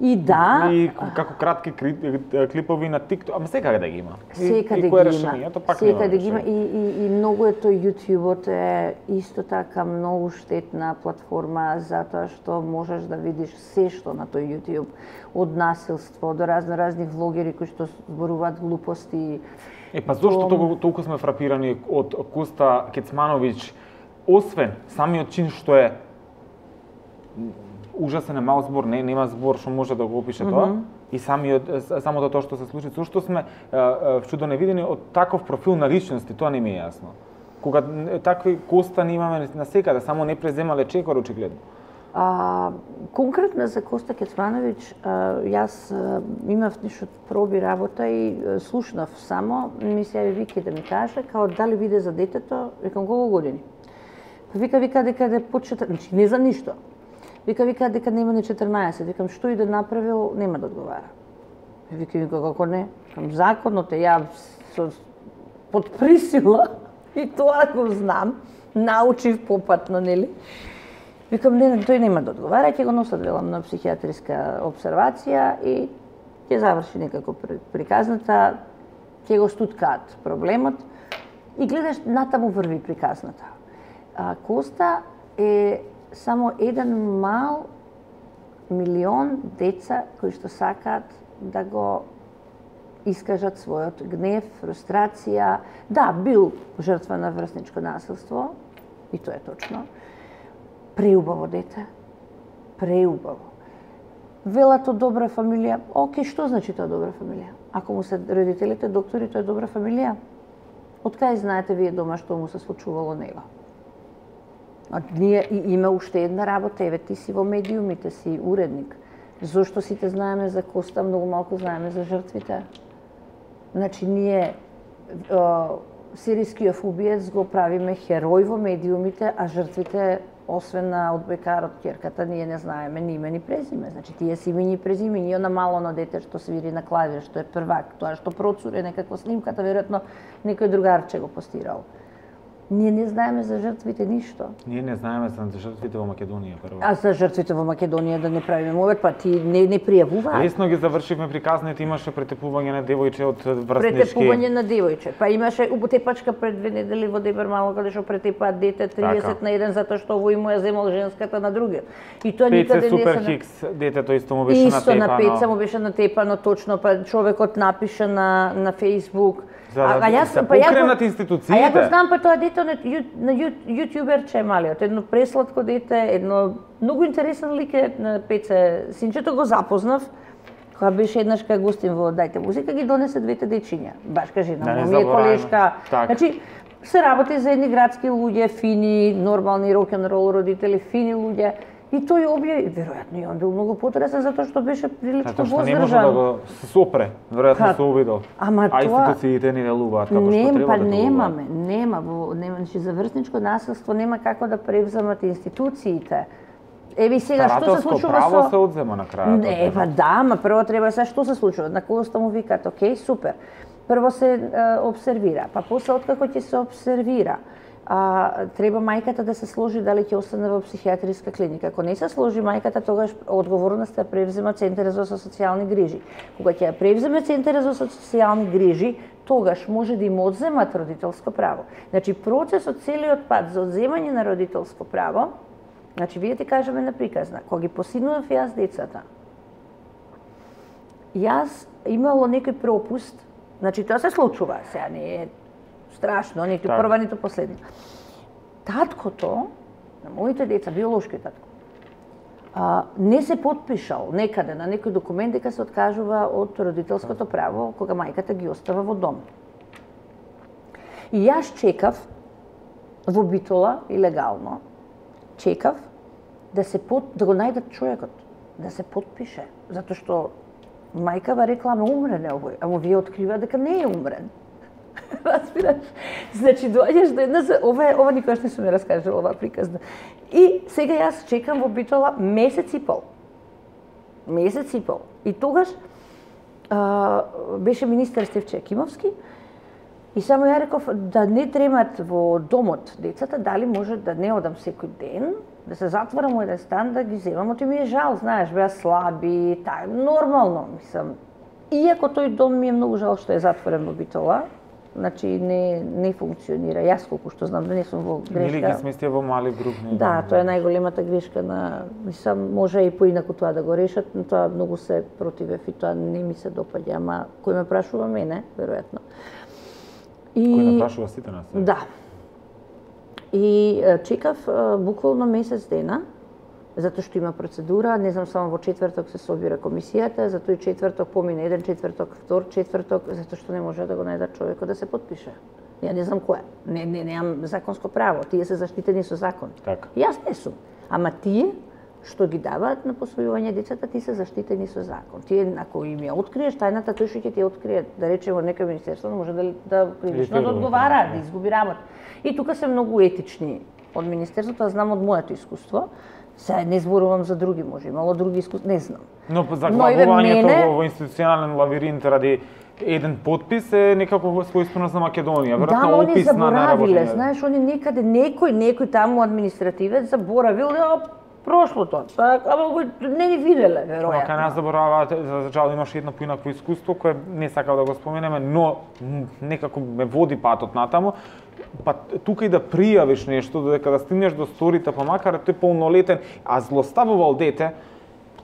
И да, и како кратки клипови на TikTok, ама секаде да ги има. Секаде ги има и многу е тој YouTubeот е исто така многу штетна платформа затоа што можеш да видиш се што на тој YouTube, од насилство до разни влогери кои што зборуваат глупости. Па зошто толку сме фрапирани од Коста Кецмановиќ, освен самиот чин што е ужасен е мал збор, нема збор што може да го опише тоа. И самото тоа што се случи, зошто сме чудо невидени од таков профил на личности, тоа не ми е јасно. Кога такви Коста не имаме на секаде, само не преземале чекор очигледно. Конкретно за Коста Кецмановиќ, јас имав нешто проби работа и слушнав само, ми се јави Вики да ми каже, као дали биде за детето, викам колку години. Вика дека да почета, значи не за ништо. Вика дека нема ни 14, викам што и да направил, нема да одговара. Вика како не, викам законот е ја под присила и тоа го знам, научив попатно, нели? Викам, не, тој нема да одговара, ќе го носат велам на психијатриска обсервација и ќе заврши некако приказната, ќе го стуткаат проблемот и гледаш натаму врви приказната. Коста е само еден мал милион деца кои што сакаат да го искажат својот гнев, фрустрација. Да, бил жртва на врсничко насилство, и тоа е точно. Преубаво дете. Преубаво. Велат од добра фамилија. Океј, што значи тоа добра фамилија? Ако му се родителите доктори, тоа е добра фамилија. Од кај знаете вие дома што му се случувало него? Ние има уште една работа, еве ти си во медиумите, си уредник. Зошто сите знаеме за Коста, многу малку знаеме за жртвите? Значи, ние сирискиот убиец го правиме херој во медиумите, а жртвите, освен на одбојкарот ќерката, ние не знаеме ни име ни презиме. Значи, тие си имени и презимени, она малоно дете што свири на клавир, што е првак, тоа што процури некаква снимката, веројатно некој другарче го постирал. Ние не знаеме за жртвите ништо. Ние не знаеме за жртвите во Македонија прво. А за жртвите во Македонија да не правиме мовет, па ти не пријавуваат. Лесно ги завршивме приказните, имаше претепување на девојче од врснички. Претепување на девојче. Па имаше утепачка пред 2 недели во Дебар мало каде што претепаат дете 30 на 1 затоа што овој му ја земал женската на другиот. И тоа никаде не се Супер Хикс, детето исто му беше натепано. Исто на пеца му беше натепано точно, па човекот напише на Facebook. Се покренат институциите. А ја го знам, па тоа дете на јутјуберче е малиот, едно пресладко дете, едно многу интересен лик е на Пеце синчето, го запознав, кога беше еднаш кај гостин во Дајте музика, ги донесе двете дечиња, башка жена, ми е колешка. Значи, се работи за едни градски луѓе, фини, нормални рок-н-рол родители, фини луѓе. И тој објави, веројатно и он бил многу потресен затоа што беше прилично воздржан. Не може да го сопре, веројатно се обидел. Ама тоа институциите не делуваат како што треба да делуваат. Нема, за врсничко насилство нема како да превземат институциите. Еви сега што се случува со право се одзема на крајот. Не, па да, ама прво треба сега што се случува. На Коста му викаат, окей, супер. Прво се обсервира, па после откако ќе се обсервира, треба мајката да се сложи дали ќе остане во психијатриска клиника. Ако не се сложи мајката, тогаш одговорноста ја превзема Центарот за социјални грижи. Кога ќе ја превземе Центарот за социјални грижи, тогаш може да им одземат родителско право. Значи, процесот целиот пат за одземање на родителско право, значи, вие ти кажеме на приказна, кога ги посинував јас децата, јас имало некој пропуст, значи, тоа се случува, сега не е страшно, ниту прва, ниту последна. Таткото на моите деца, биолошки татко, не се подпишал некаде на некој документ дека се откажува од родителското право кога мајката ги остава во дом. И јас чекав во Битола, илегално, чекав да го најдат човекот, да се подпише, затоа што мајкава рекла, ама умрен е овој, ама вие открива дека не е умрен. Разбираш? Значи, доаѓаш до една... Ова никогаш не сум ја раскажала, ова приказна. И сега јас чекам во Битола месец и пол. Месец и пол. И тогаш беше министер Стефче Кимовски и само ја реков да не тремат во домот децата, дали може да не одам секој ден, да се затворам во еден стан, да ги земам. Оти ми е жал, знаеш, беа слаби, нормално, мислам. Иако тој дом ми е многу жал што е затворен во Битола, значи не функционира. Јас колку што знам да не сум во грешка. Или ги сместија во мали групни. Да, тоа е најголемата грешка на, мислам, може и поинаку тоа да го решат, но тоа многу се противев и тоа не ми се допаѓа, ама кој ме прашува мене, веројатно. Кој не прашува сите нас? Да. И чекав буквално месец дена, затоа што има процедура, не знам, само во четврток се собира комисијата, затоа и четврток помине еден четврток, втор четврток, затоа што не може да го најдат човекот да се подпише. Ја не знам кој е. Немам законско право, тие се заштитени со закон. Така. Јас не сум. Ама тие што ги даваат на посвојување децата, ти се заштитени со закон. Тие, ако им ја откриеш тајната, тој што ќе ти открие, да речеме, некој министерство може да кривично да одговара, да изгуби работа. И тука се многу етични од министерството, знам од моето искуство. Се не зборувам за други, може имало други искуства, не знам. Но заглавувањето во институционален лавиринт ради еден подпис е некако својствено за Македонија, веројатно опис на заборавиле, знаеш, они некаде некој таму административец заборавил прошлото. Ама не ни виделе, веројатно. Кај нас забораваат, за жал имаше едно поинакво искуство кое не сакав да го споменеме, но некако ме води патот натаму. Па тука и да пријавиш нешто, додека да стигнеш до сторите, па макар тој полнолетен, а злоставувал дете,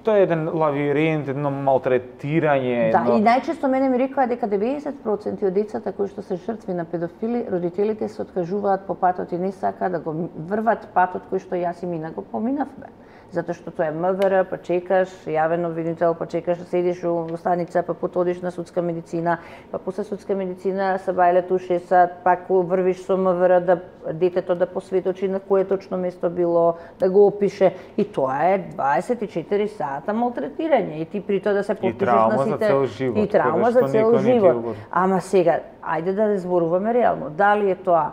тоа е еден лавиринт, едно малтретирање. Да, и најчесто мене ми рекоа дека 90% од децата кои што се жртви на педофили, родителите се откажуваат по патот и не сакаат да го врват патот кој што јас и Мина го поминавме. Затоа што тоа е МВР, па чекаш, јавен обвинител, па чекаш, седиш во станица, па потодиш на судска медицина, па после судска медицина се бајле тушеса, пак врвиш со МВР да детето да посветочи на кое точно место било, да го опише. И тоа е 24 сата малтретирање. И ти при тоа да се подпишеш на сите... И травма за цел живот. И травма за цел живот. Ама сега, ајде да зборуваме реално. Дали е тоа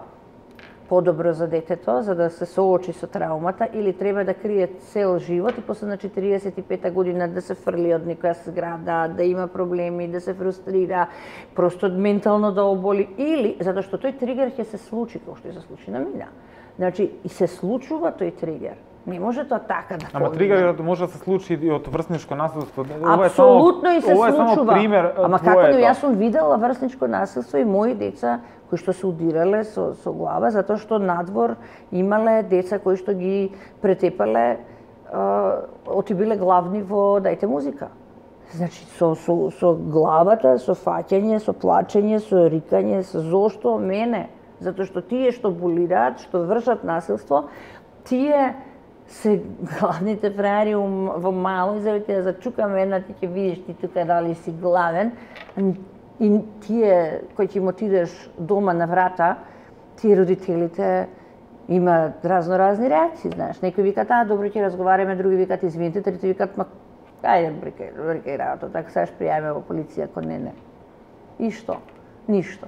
подобро за детето, за да се соочи со траумата, или треба да крие цел живот и после на 45-та година да се фрли од некоја зграда, да има проблеми, да се фрустрира, просто ментално да оболи, или затоа што тој тригер ќе се случи, како што се случи на Мина. Значи, и се случува тој тригер. Не може тоа така да Ама тригерот може да се случи и од врсничко насилство. Апсолутно и се случува. Пример, ама како да јас сум видела врсничко насилство и мои деца кои што се удирале со глава затоа што надвор имале деца кои што ги претепале, отибиле главни во дајте музика. Значи со главата, со фаќање, со плачење, со рикање, со зошто мене, затоа што тие што булираат, што вршат насилство, тие се главните фраери во мало и за да зачукаме една, ти ќе видиш ти тука дали си главен. И тие кои ќе им отидеш дома на врата, тие родителите имаат разни реакции, знаеш. Некои викаат, добро ќе разговараме, други викаат, извините, трети викаат, ајде брикај работа, така сега ќе пријавиме во полиција кон не. И што? Ништо.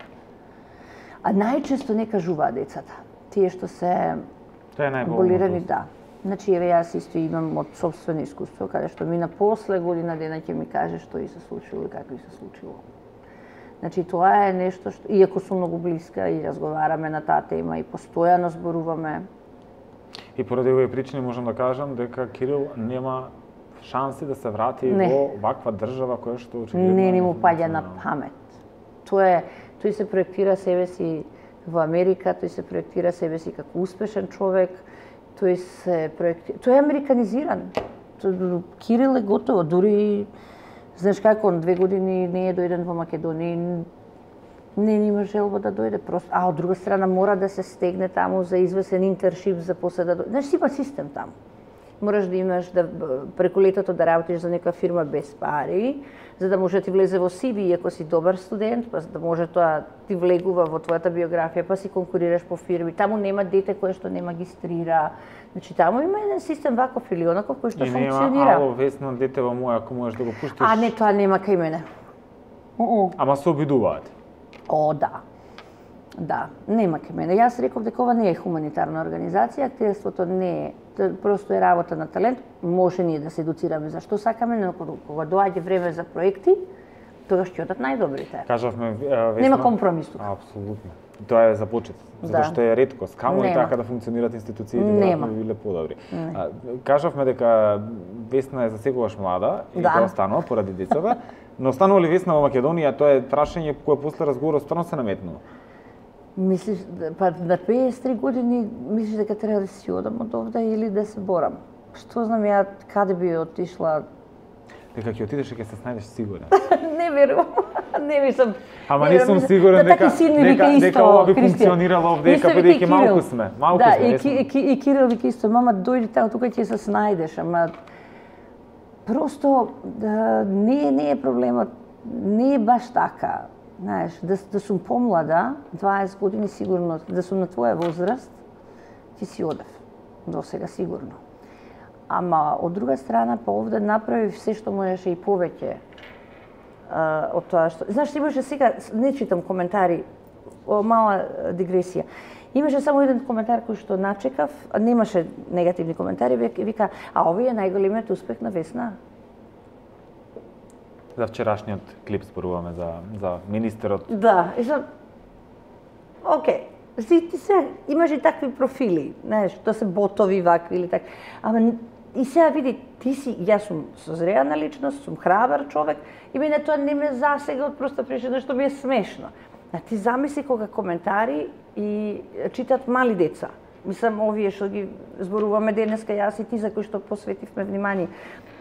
А најчесто не кажуваат децата. Тие што се болирани, да. Значи, еве јас исто имам од собствено искуство, каде што Мина после година дена ќе ми каже што и се случило и како и се случило. Значи, тоа е нешто што, иако сум многу блиска и разговараме на таа тема и постојано зборуваме. И поради овие причини можам да кажам дека Кирил нема шанси да се врати во ваква држава која што очигледно не му паѓа на памет. Тој се проектира себе си во Америка, тој се проектира себе си како успешен човек, тој е американизиран. Кирил е готово, дури знаеш како, 2 години не е дојден во Македонија, не има желба да дојде просто. А од друга страна мора да се стегне таму за извесен интершип за после да дојде. Знаеш, има систем таму. Мораш да имаш преку летото да работиш за некоја фирма без пари, за да може да ти влезе во CV ако си добар студент, па за да може тоа ти влегува во твојата биографија, па си конкурираш по фирми. Таму нема дете кое што не магистрира. Значи таму има еден систем ваков или онаков кој што функционира. И нема ало весно дете во моја, ако можеш да го пуштиш. А не, тоа нема кај мене. Ама се обидуваат. О, да. Да, нема кај мене. Јас реков дека ова не е хуманитарна организација, активството не е, просто е работа на талент. Може ние да се едуцираме зашто сакаме, но кога доаѓа време за проекти, тогаш ќе одат најдобрите. Кажавме Весна. Нема компромис тука. Апсолутно. Тоа е за почет, затоа што е реткост. Камо и така да функционираат институциите, веројатно би биле подобри. Кажавме дека Весна е засегуваш млада и тоа останува поради децата, но останува ли Весна во Македонија, тоа е прашање кое после разговорот стварно се наметнува. Мислиш, па на 53 години мислиш дека треба да си одам од овде или да се борам? Што знам ја каде би отишла? Дека ќе отидеш и ќе се снајдеш сигурен. Не верувам. Не мислам. Ама не сум сигурен дека ова би функционирало овдека, бидејќи малку сме. Малку сме. И Кирил вика исто, мама дојди таму, тука ќе се снајдеш, ама просто не е проблемот, не е баш така. Знаеш, да сум помлада, 20 години сигурно, да сум на твоја возраст, ти си одев. До сега сигурно. ама од друга страна па овде направив се што можеше и повеќе од тоа што... Знаеш, имаше сега, не читам коментари, мала дигресија. Имаше само еден коментар кој што начекав, немаше негативни коментари, вика, а овој е најголемиот успех на Весна. За вчерашниот клип зборуваме за министерот. Да, и за... Океј, ти се, имаш и такви профили, знаеш, тоа се ботови вакви или така. Ама и сега види, ти си, јас сум созреана личност, сум храбар човек и мене тоа не ме засега од проста причина што ми е смешно. А ти замисли кога коментари и читат мали деца. Мислам, овие што ги зборуваме денеска, јас и ти, за кои што посветивме внимание.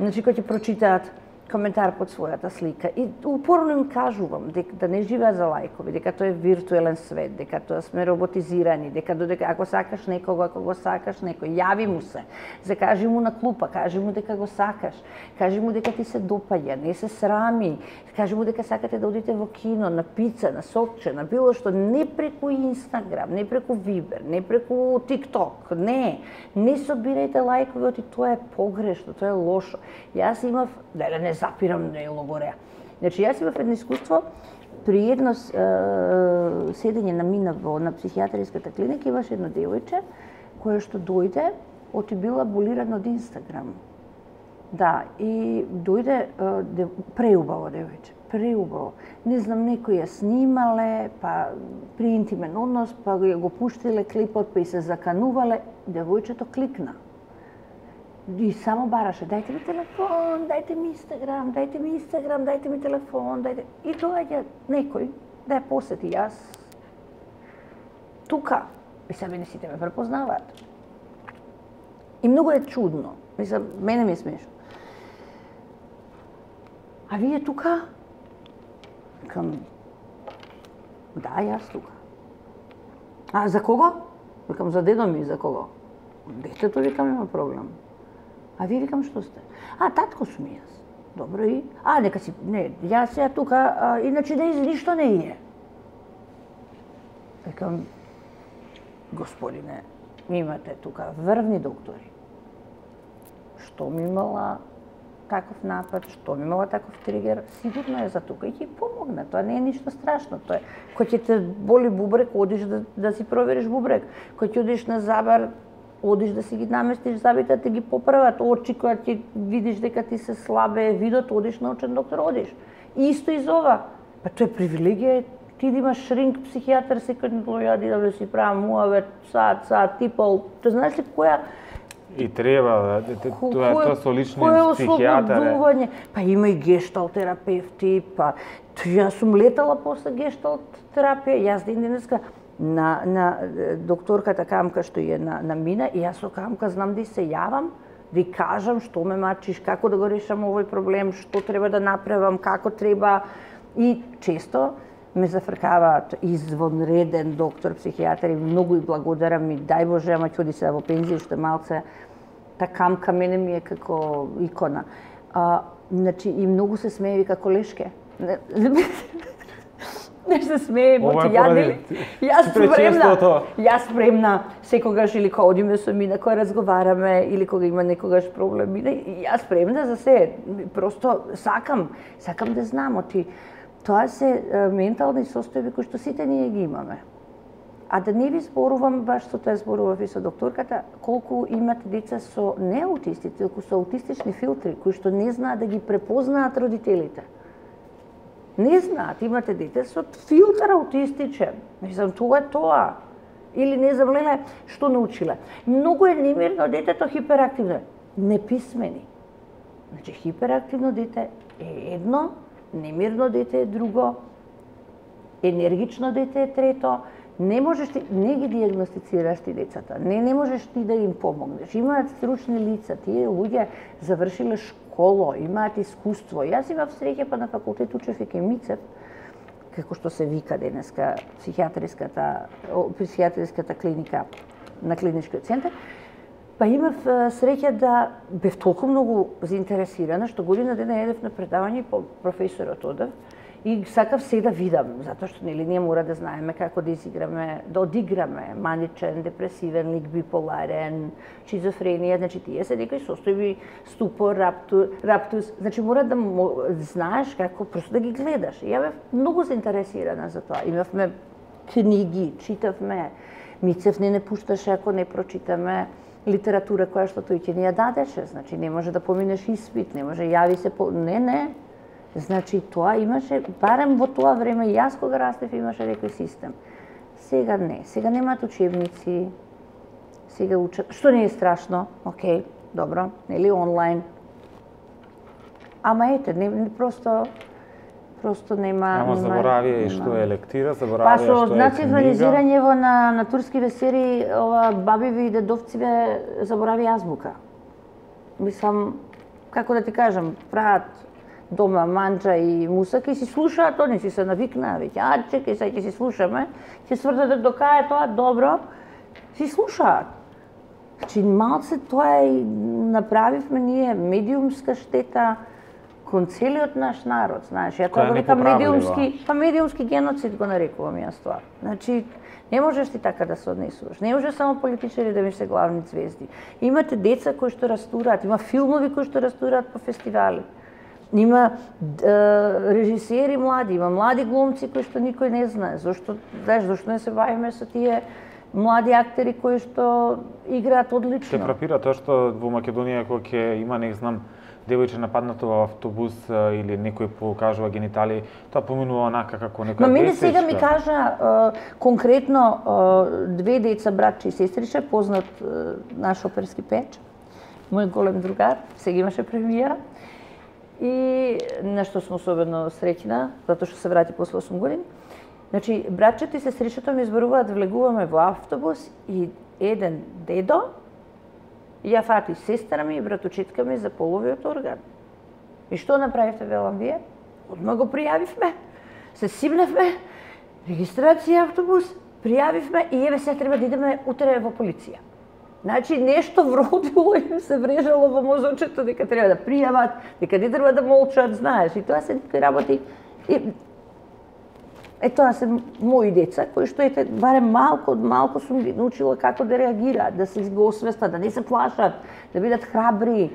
Значи, кои ќе прочитаат коментар под својата слика. И упорно им кажувам да не живеат за лајкови, дека тоа е виртуелен свет, дека тоа сме роботизирани, дека додека ако сакаш некого, ако го сакаш некој, јави му се, закажи му на клупа, кажи му дека го сакаш, кажи му дека ти се допаѓа, не се срами, кажи му дека сакате да одите во кино, на пица, на сокче, на било што, не преку Инстаграм, не преку Вибер, не преку ТикТок, не собирајте лајкови, тоа е погрешно, тоа е лошо. Јас имав, не запирам да е логореа. Значи, јас имав едно искуство, при едно седење на Мина на психијатриската клиника, имаше едно девојче, кое што дојде, оти била аболирана од Инстаграм. Да, и дојде преубаво девојче, преубаво. Не знам, некој ја снимале, па при интимен однос, па го пуштиле клипот, па и се заканувале, девојчето кликна. И само бараше, дајте ми телефон, дајте ми Инстаграм, дајте ми Инстаграм, дајте ми телефон, дајте... И доаѓа некој да ја посети, јас тука, и себе не сите ме препознаваат. И многу е чудно, мислам, мене ми е смешно. А вие тука? Викам, да, јас тука. А за кого? Викам, за дедо ми, за кого? Детето, викам, има проблем. А вие, викам, што сте? А, татко сум јас. Добро и? А, нека си, не, јас сега тука, иначе ништо не е. Викам, господине, имате тука врвни доктори. Што ми имала таков напад, што ми имала таков тригер, сигурно е за тука и ќе помогне. Тоа не е ништо страшно. Тоа е, кој ќе те боли бубрек, одиш да си провериш бубрек. Кој ќе одиш на забар, одиш да си ги наместиш забите, да ги поправат. Очи, која ќе видиш дека ти се слабе видот, одиш на очен доктор, одиш. И исто и за ова. Па тоа е привилегија, ти да имаш шринк психијатар, секој дојади да си правам муавет, сад, типол. Тоа знаеш ли која... И треба, тоа со лични психијатар. Па има и гешталт терапевти, па јас сум летала после гешталт терапија, јас денеска на докторката Камка што е на Мина, и јас со Камка знам да се јавам, да кажам што ме мачиш, како да го решам овој проблем, што треба да направам, како треба. И често ме зафркаваат извонреден доктор, психијатар, и многу и благодарам, и дај Боже, ама ќе оди сега во пензија, што малце, та Камка мене ми е како икона. Значи, и многу се смее, вика, колешке. Не се смее, моти јас спремна секогаш, или кога одиме со Мина, кога разговараме, или кога има некогаш проблем, јас спремна за се, просто сакам да знам, тоа се ментални состојби кои што сите ние ги имаме. А да не ви зборувам, баш со тоа зборував и со докторката, колку имате деца со не аутистици, толку со аутистични филтри, кои што не знаат да ги препознаат родителите. Не знаат, имате дете со филтр аутистичен. Мислам, тоа е тоа. Или не знам, леле, што научиле. Многу е немирно детето, хиперактивно. Неписмени. Значи, хиперактивно дете е едно, немирно дете е друго, енергично дете е трето. Не можеш ти, не ги диагностицираш ти децата, не можеш ти да им помогнеш. Имаат стручни лица, тие луѓе завршиле школа, имаат искуство. Јас имав среќа, па на факултет учев и Мицев, како што се вика денеска психијатриската клиника на клиничкиот центар. Па имав среќа да бев толку многу заинтересирана, што година дена едев на предавање, професорот одев, И сакав се да видам, затоа што нели ние мора да знаеме како да изиграме, да одиграме маничен, депресивен лик, биполарен, шизофренија, значи тие се некои состојби, ступор, раптус, значи мора да знаеш како просто да ги гледаш. И ја бев многу заинтересирана за тоа. Имавме книги, читавме, Мицев не пушташе ако не прочитаме литература која што тој ќе ни ја дадеше, значи не може да поминеш испит, не може јави се не. Значи тоа имаше, барем во тоа време, јас кога растев имаше некој систем. Сега не, сега немаат учебници, сега учат, што не е страшно, окей, добро, нели онлайн. Ама ете, не просто нема... Ама заборавија и што е лектира, заборавија што е книга. Па со национализирањево на турскиве серии, ова бабиви и дедовциве заборави азбука. Мислам, како да ти кажам, прават дома манџа и мусака и си слушаат, они си се навикнаа веќе, чекај, сега ќе си слушаме, ќе сврдат до кај тоа, добро, си слушаат. Значи, малце тоа и направивме ние, медиумска штета кон целиот наш народ, знаеш, ја тоа го викам медиумски геноцид го нарекувам јас тоа. Значи, не можеш ти така да се однесуваш. Не може само политичари да ми се главни звезди. Имате деца кои што растураат, има филмови кои што растураат по фестивали. Има режисери млади, има млади глумци кои што никој не знае. Зошто не се бавиме со тие млади актери кои што играат одлично? Те фрапира тоа што во Македонија кога ќе има, не знам, девојче нападнато во автобус или некој покажува гениталии, тоа поминува онака како некоја. Но мене сега ми кажа конкретно две деца, братче и сестриче, познат наш оперски печ, мој голем другар, сега имаше премиера. И нешто сум особено среќна, затоа што се врати после 8 години. Значи, братчето и сестричето ми изборуваат, влегуваме во автобус и еден дедо ја фати сестра ми и братучетка ми за половиот орган. И што направивте, велам вие? Одма го пријавивме, се симневме, регистрација автобус, пријавивме и еве се треба да идеме утре во полиција. Значи, нешто вродило им се врежало во мозочето дека треба да пријават, дека не треба да молчат, знаеш. И тоа се некои работи. Тоа се мои деца, кои што барем малку сум ги научила како да реагираат, да се го освестат, да не се плашат, да бидат храбри.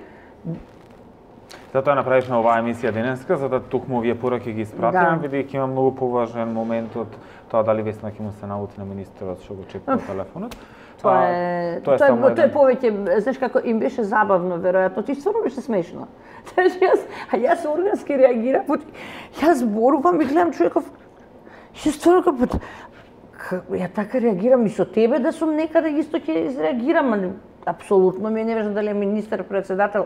Затоа направивме оваа емисија денеска, за да токму овие пораки ги испратиме, бидејќи има многу поважен момент од тоа дали Весна ќе му се наути на министерот што го чепува телефонот. Тоа е повеќе, знаеш како им беше забавно, веројатно, ти стварно беше смешно. Знаеш, јас органски реагирам, јас зборувам и гледам човеков, јас стварно ја така реагирам и со тебе да сум некаде исто ќе изреагирам, апсолутно ми е неважно дали е министер-председател,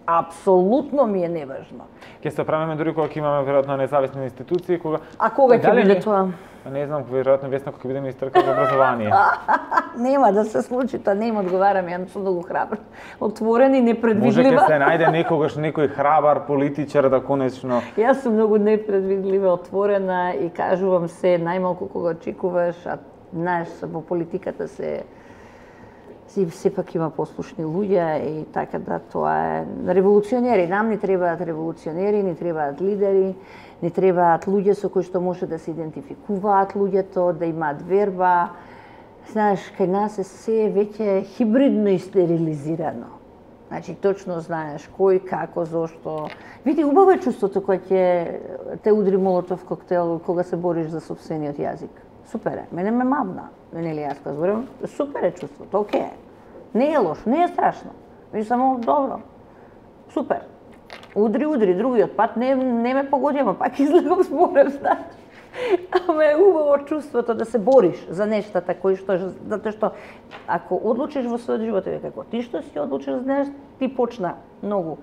апсолутно ми е неважно. Ќе се правиме дури кога ќе имаме веројатно независни институции, кога... А кога ќе биде тоа? Не знам, веројатно Весна кога ќе биде министерка за образование. Нема да се случи, тоа не им одговарам, ја сум многу храбра. Отворена и непредвидлива. Може ќе се најде некогаш некој храбар политичар да конечно... Јас сум многу непредвидлива, отворена и кажувам се најмалку кога очекуваш, а знаеш, во политиката сепак има послушни луѓе и така да тоа е револуционери. Нам ни требаат револуционери, ни требаат лидери, ни требаат луѓе со кои што може да се идентификуваат луѓето, да имаат верба. Знаеш, кај нас е се веќе хибридно и стерилизирано. Значи, точно знаеш кој, како, зошто. Види, убаво е чувството кога ќе те удри молотов коктел кога се бориш за сопствениот јазик. Супер е. Мене ме мавна. Нели јас зборам, супер е чувството, окей е. Не е лошо, не е страшно. Ми само добро. Супер. Удри, другиот пат не ме погоди, ама пак излегам зборев, знаеш. Ама е убаво чувството да се бориш за нештата кои што, затоа што ако одлучиш во својот живот, како ти што си одлучиш, знаеш, ти почна многу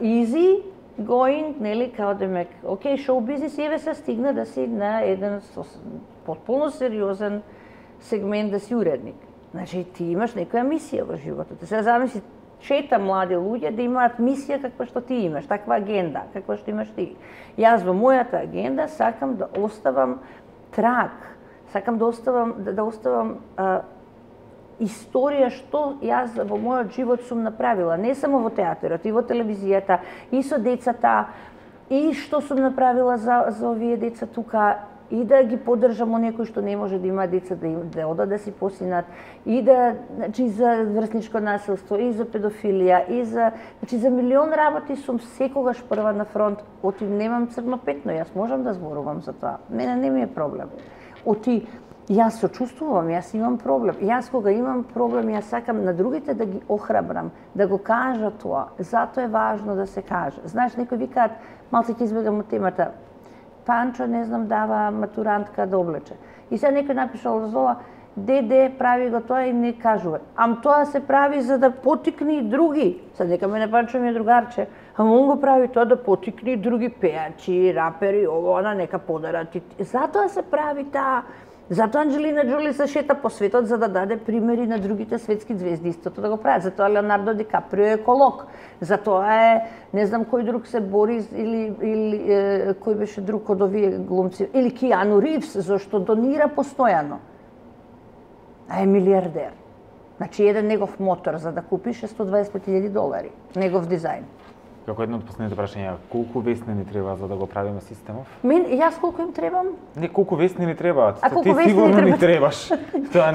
easy going, нели, као демек, окей, шоу бизнес, еве се стигна да си на еден потполно сериозен сегмент да си уредник. Значи, ти имаш некоја мисија во животот. Сега замисли 4 млади луѓе да имаат мисија каква што ти имаш, таква агенда, каква што имаш ти. Јас во мојата агенда сакам да оставам траг, сакам да оставам историја што јас во мојот живот сум направила, не само во театарот, и во телевизијата, и со децата, И што сум направила за овие деца тука, и да ги поддржам оние кои што не може да има деца, да одат да си посинат, и да, значи, за врсничко насилство, и за педофилија, и за, значи, за милион работи сум секогаш прва на фронт. Оти немам црно петно, јас можам да зборувам за тоа. Мене не ми е проблем. Оти јас сочувствувам, јас имам проблем. Јас кога имам проблем, јас сакам на другите да ги охрабрам, да го кажат тоа. Затоа е важно да се каже. Знаеш, некои викаат, малце ќе избегам од темата, Панчо, не знам, дава матурантка да облече. И сега некој напишал зола, деде прави го тоа и не кажува. Ам тоа се прави за да потикне и други. Сега нека мене Панчо ми е другарче, ам он го прави тоа да потикне и други пеачи, рапери, ово, она, нека подарат. Затоа се прави таа. Затоа Анджелина Джоли се шета по светот за да даде примери на другите светски звезди истото да го прават. Затоа Леонардо Ди Каприо е еколог. Затоа е, не знам кој друг се бори или кој беше друг од овие глумци, или Киану Ривз, зашто донира постојано. А е милиардер. Значи еден негов мотор за да купиш е $125,000, негов дизајн. Како едно од последните прашања, колку весни ни треба за да го правиме системов? Јас колку им требам? Не, колку весни ни требаат. Ти сигурно ни требаш. Тоа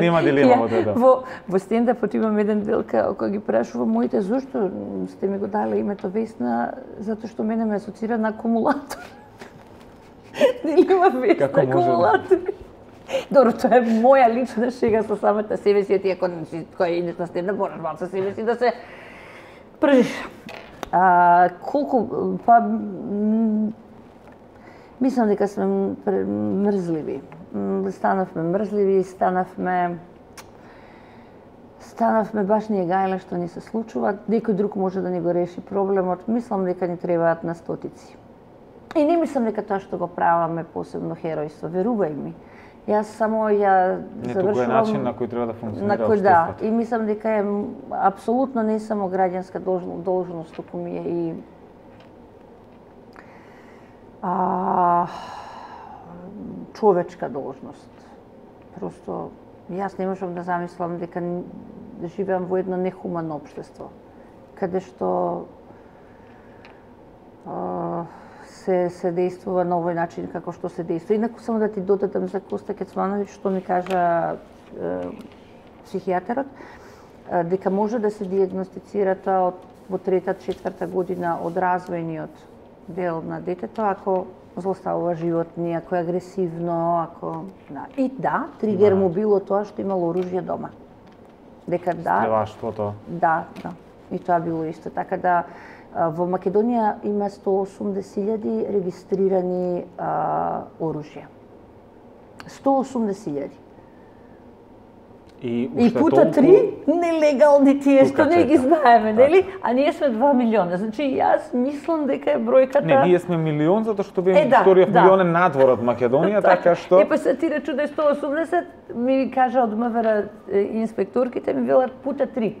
нема дилема од тоа. Во стендапот имам еден дел кога ги прашувам моите зошто сте ми го дали името Весна, затоа што мене ме асоцира на акумулатор. Нели има Весна акумулатор? Добро, тоа е моја лична шега со самата себе си, ти која идеш на стендап, мораш малку со себе си да се пржиш. Колку, па, мислам дека сме мрзливи. Станавме мрзливи, станавме баш ние гајле што ни се случува. Некој друг може да ни го реши проблемот. Мислам дека ни требаат на стотици. И не мислам дека тоа што го праваме посебно херојство, верувај ми. Јас само завршувам... Не, туку е начин на кој треба да функционира општеството. Да, и мислам дека е апсолутно не само граѓанска должност, туку ми е и човечка должност. Просто јас не можам да замислам дека живеам во едно нехумано општество, каде што се действува на овој начин како што се действува. Инаку само да ти додадам за Коста Кецмановиќ што ми кажа психијатерот, дека може да се диагностицира тоа во 3-4 година од развојниот дел на детето ако злоставува животни, ако е агресивно, ако и тригер му било тоа што имало оружје дома. Дека стрелаштвото. Да. И тоа било исто така да во Македонија има 180,000 регистрирани оружја. 180,000. И пута 3 нелегални тие што не ги знаеме, нели? А ние сме 2 милиона. Значи јас мислам дека е бројката... Не, ние сме милион затоа што вториот милион е надвор од Македонија, така што... Па се ти речу да е 180, ми кажа од МВР инспекторките, ми велат пута 3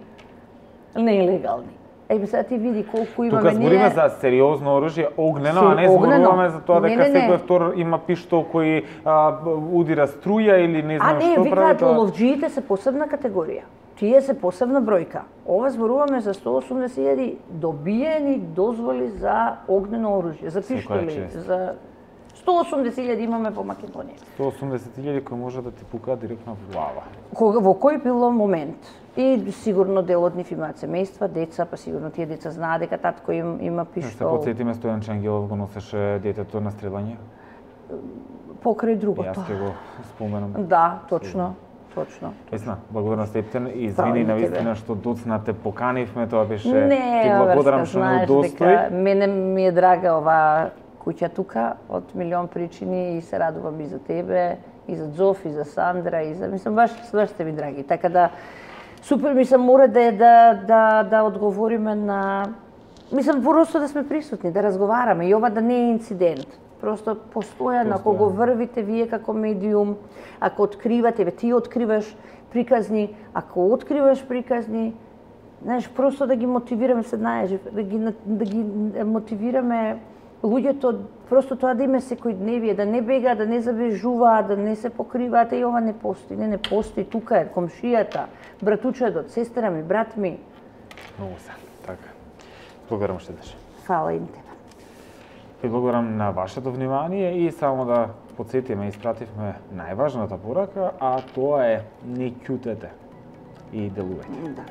нелегални. Сега ти види колку имаме ние... Тука збориме за сериозно оружје, огнено, а не зборуваме за тоа дека секој втор има пиштол кој удира струја или не знам што прави. Викаат, ловџиите се посебна категорија. Тие се посебна бројка. Ова зборуваме за 180,000 добиени дозволи за огнено оружје, за пиштоли, за 180,000 имаме по Македонија. 180,000 кои може да ти пукаат директно во глава. Во кој било момент. И сигурно дел од нив имаат семејства, деца, па сигурно тие деца знаат дека татко им има пиштол. Се потсетиме Стојан Ангелов го носеше детето на стрелање. Покрај другото. Јас ќе го споменам. Да, точно. Весна, благодарна Стептен и извини на вистина што доцнате поканивме, тоа беше ти благодарам што ме удостои. Мене ми е драга оваа куќа тука од милион причини и се радувам и за тебе, и за Зоф, и за Сандра, и за мислам баш сте ми драги. Така да супер мислам мора да одговориме на мислам просто да сме присутни, да разговараме и ова да не е инцидент. Просто постојано, ако го врвите вие како медиум, ако откривате, ти откриваш приказни, ако откриваш приказни, знаеш, просто да ги мотивираме, да ги мотивираме луѓето, просто тоа да име секојдневие, да не бегаат, да не забежуваат, да не се покриваат, и ова не постои. Не постои, тука е комшијата, братучедот, сестра ми, брат ми. Многу се, така. Благодарам што деш. Фала им тебе. Ви благодарам на вашето внимание и само да подсетиме, испративме најважната порака, а тоа е не ќутете и делувајте. Да.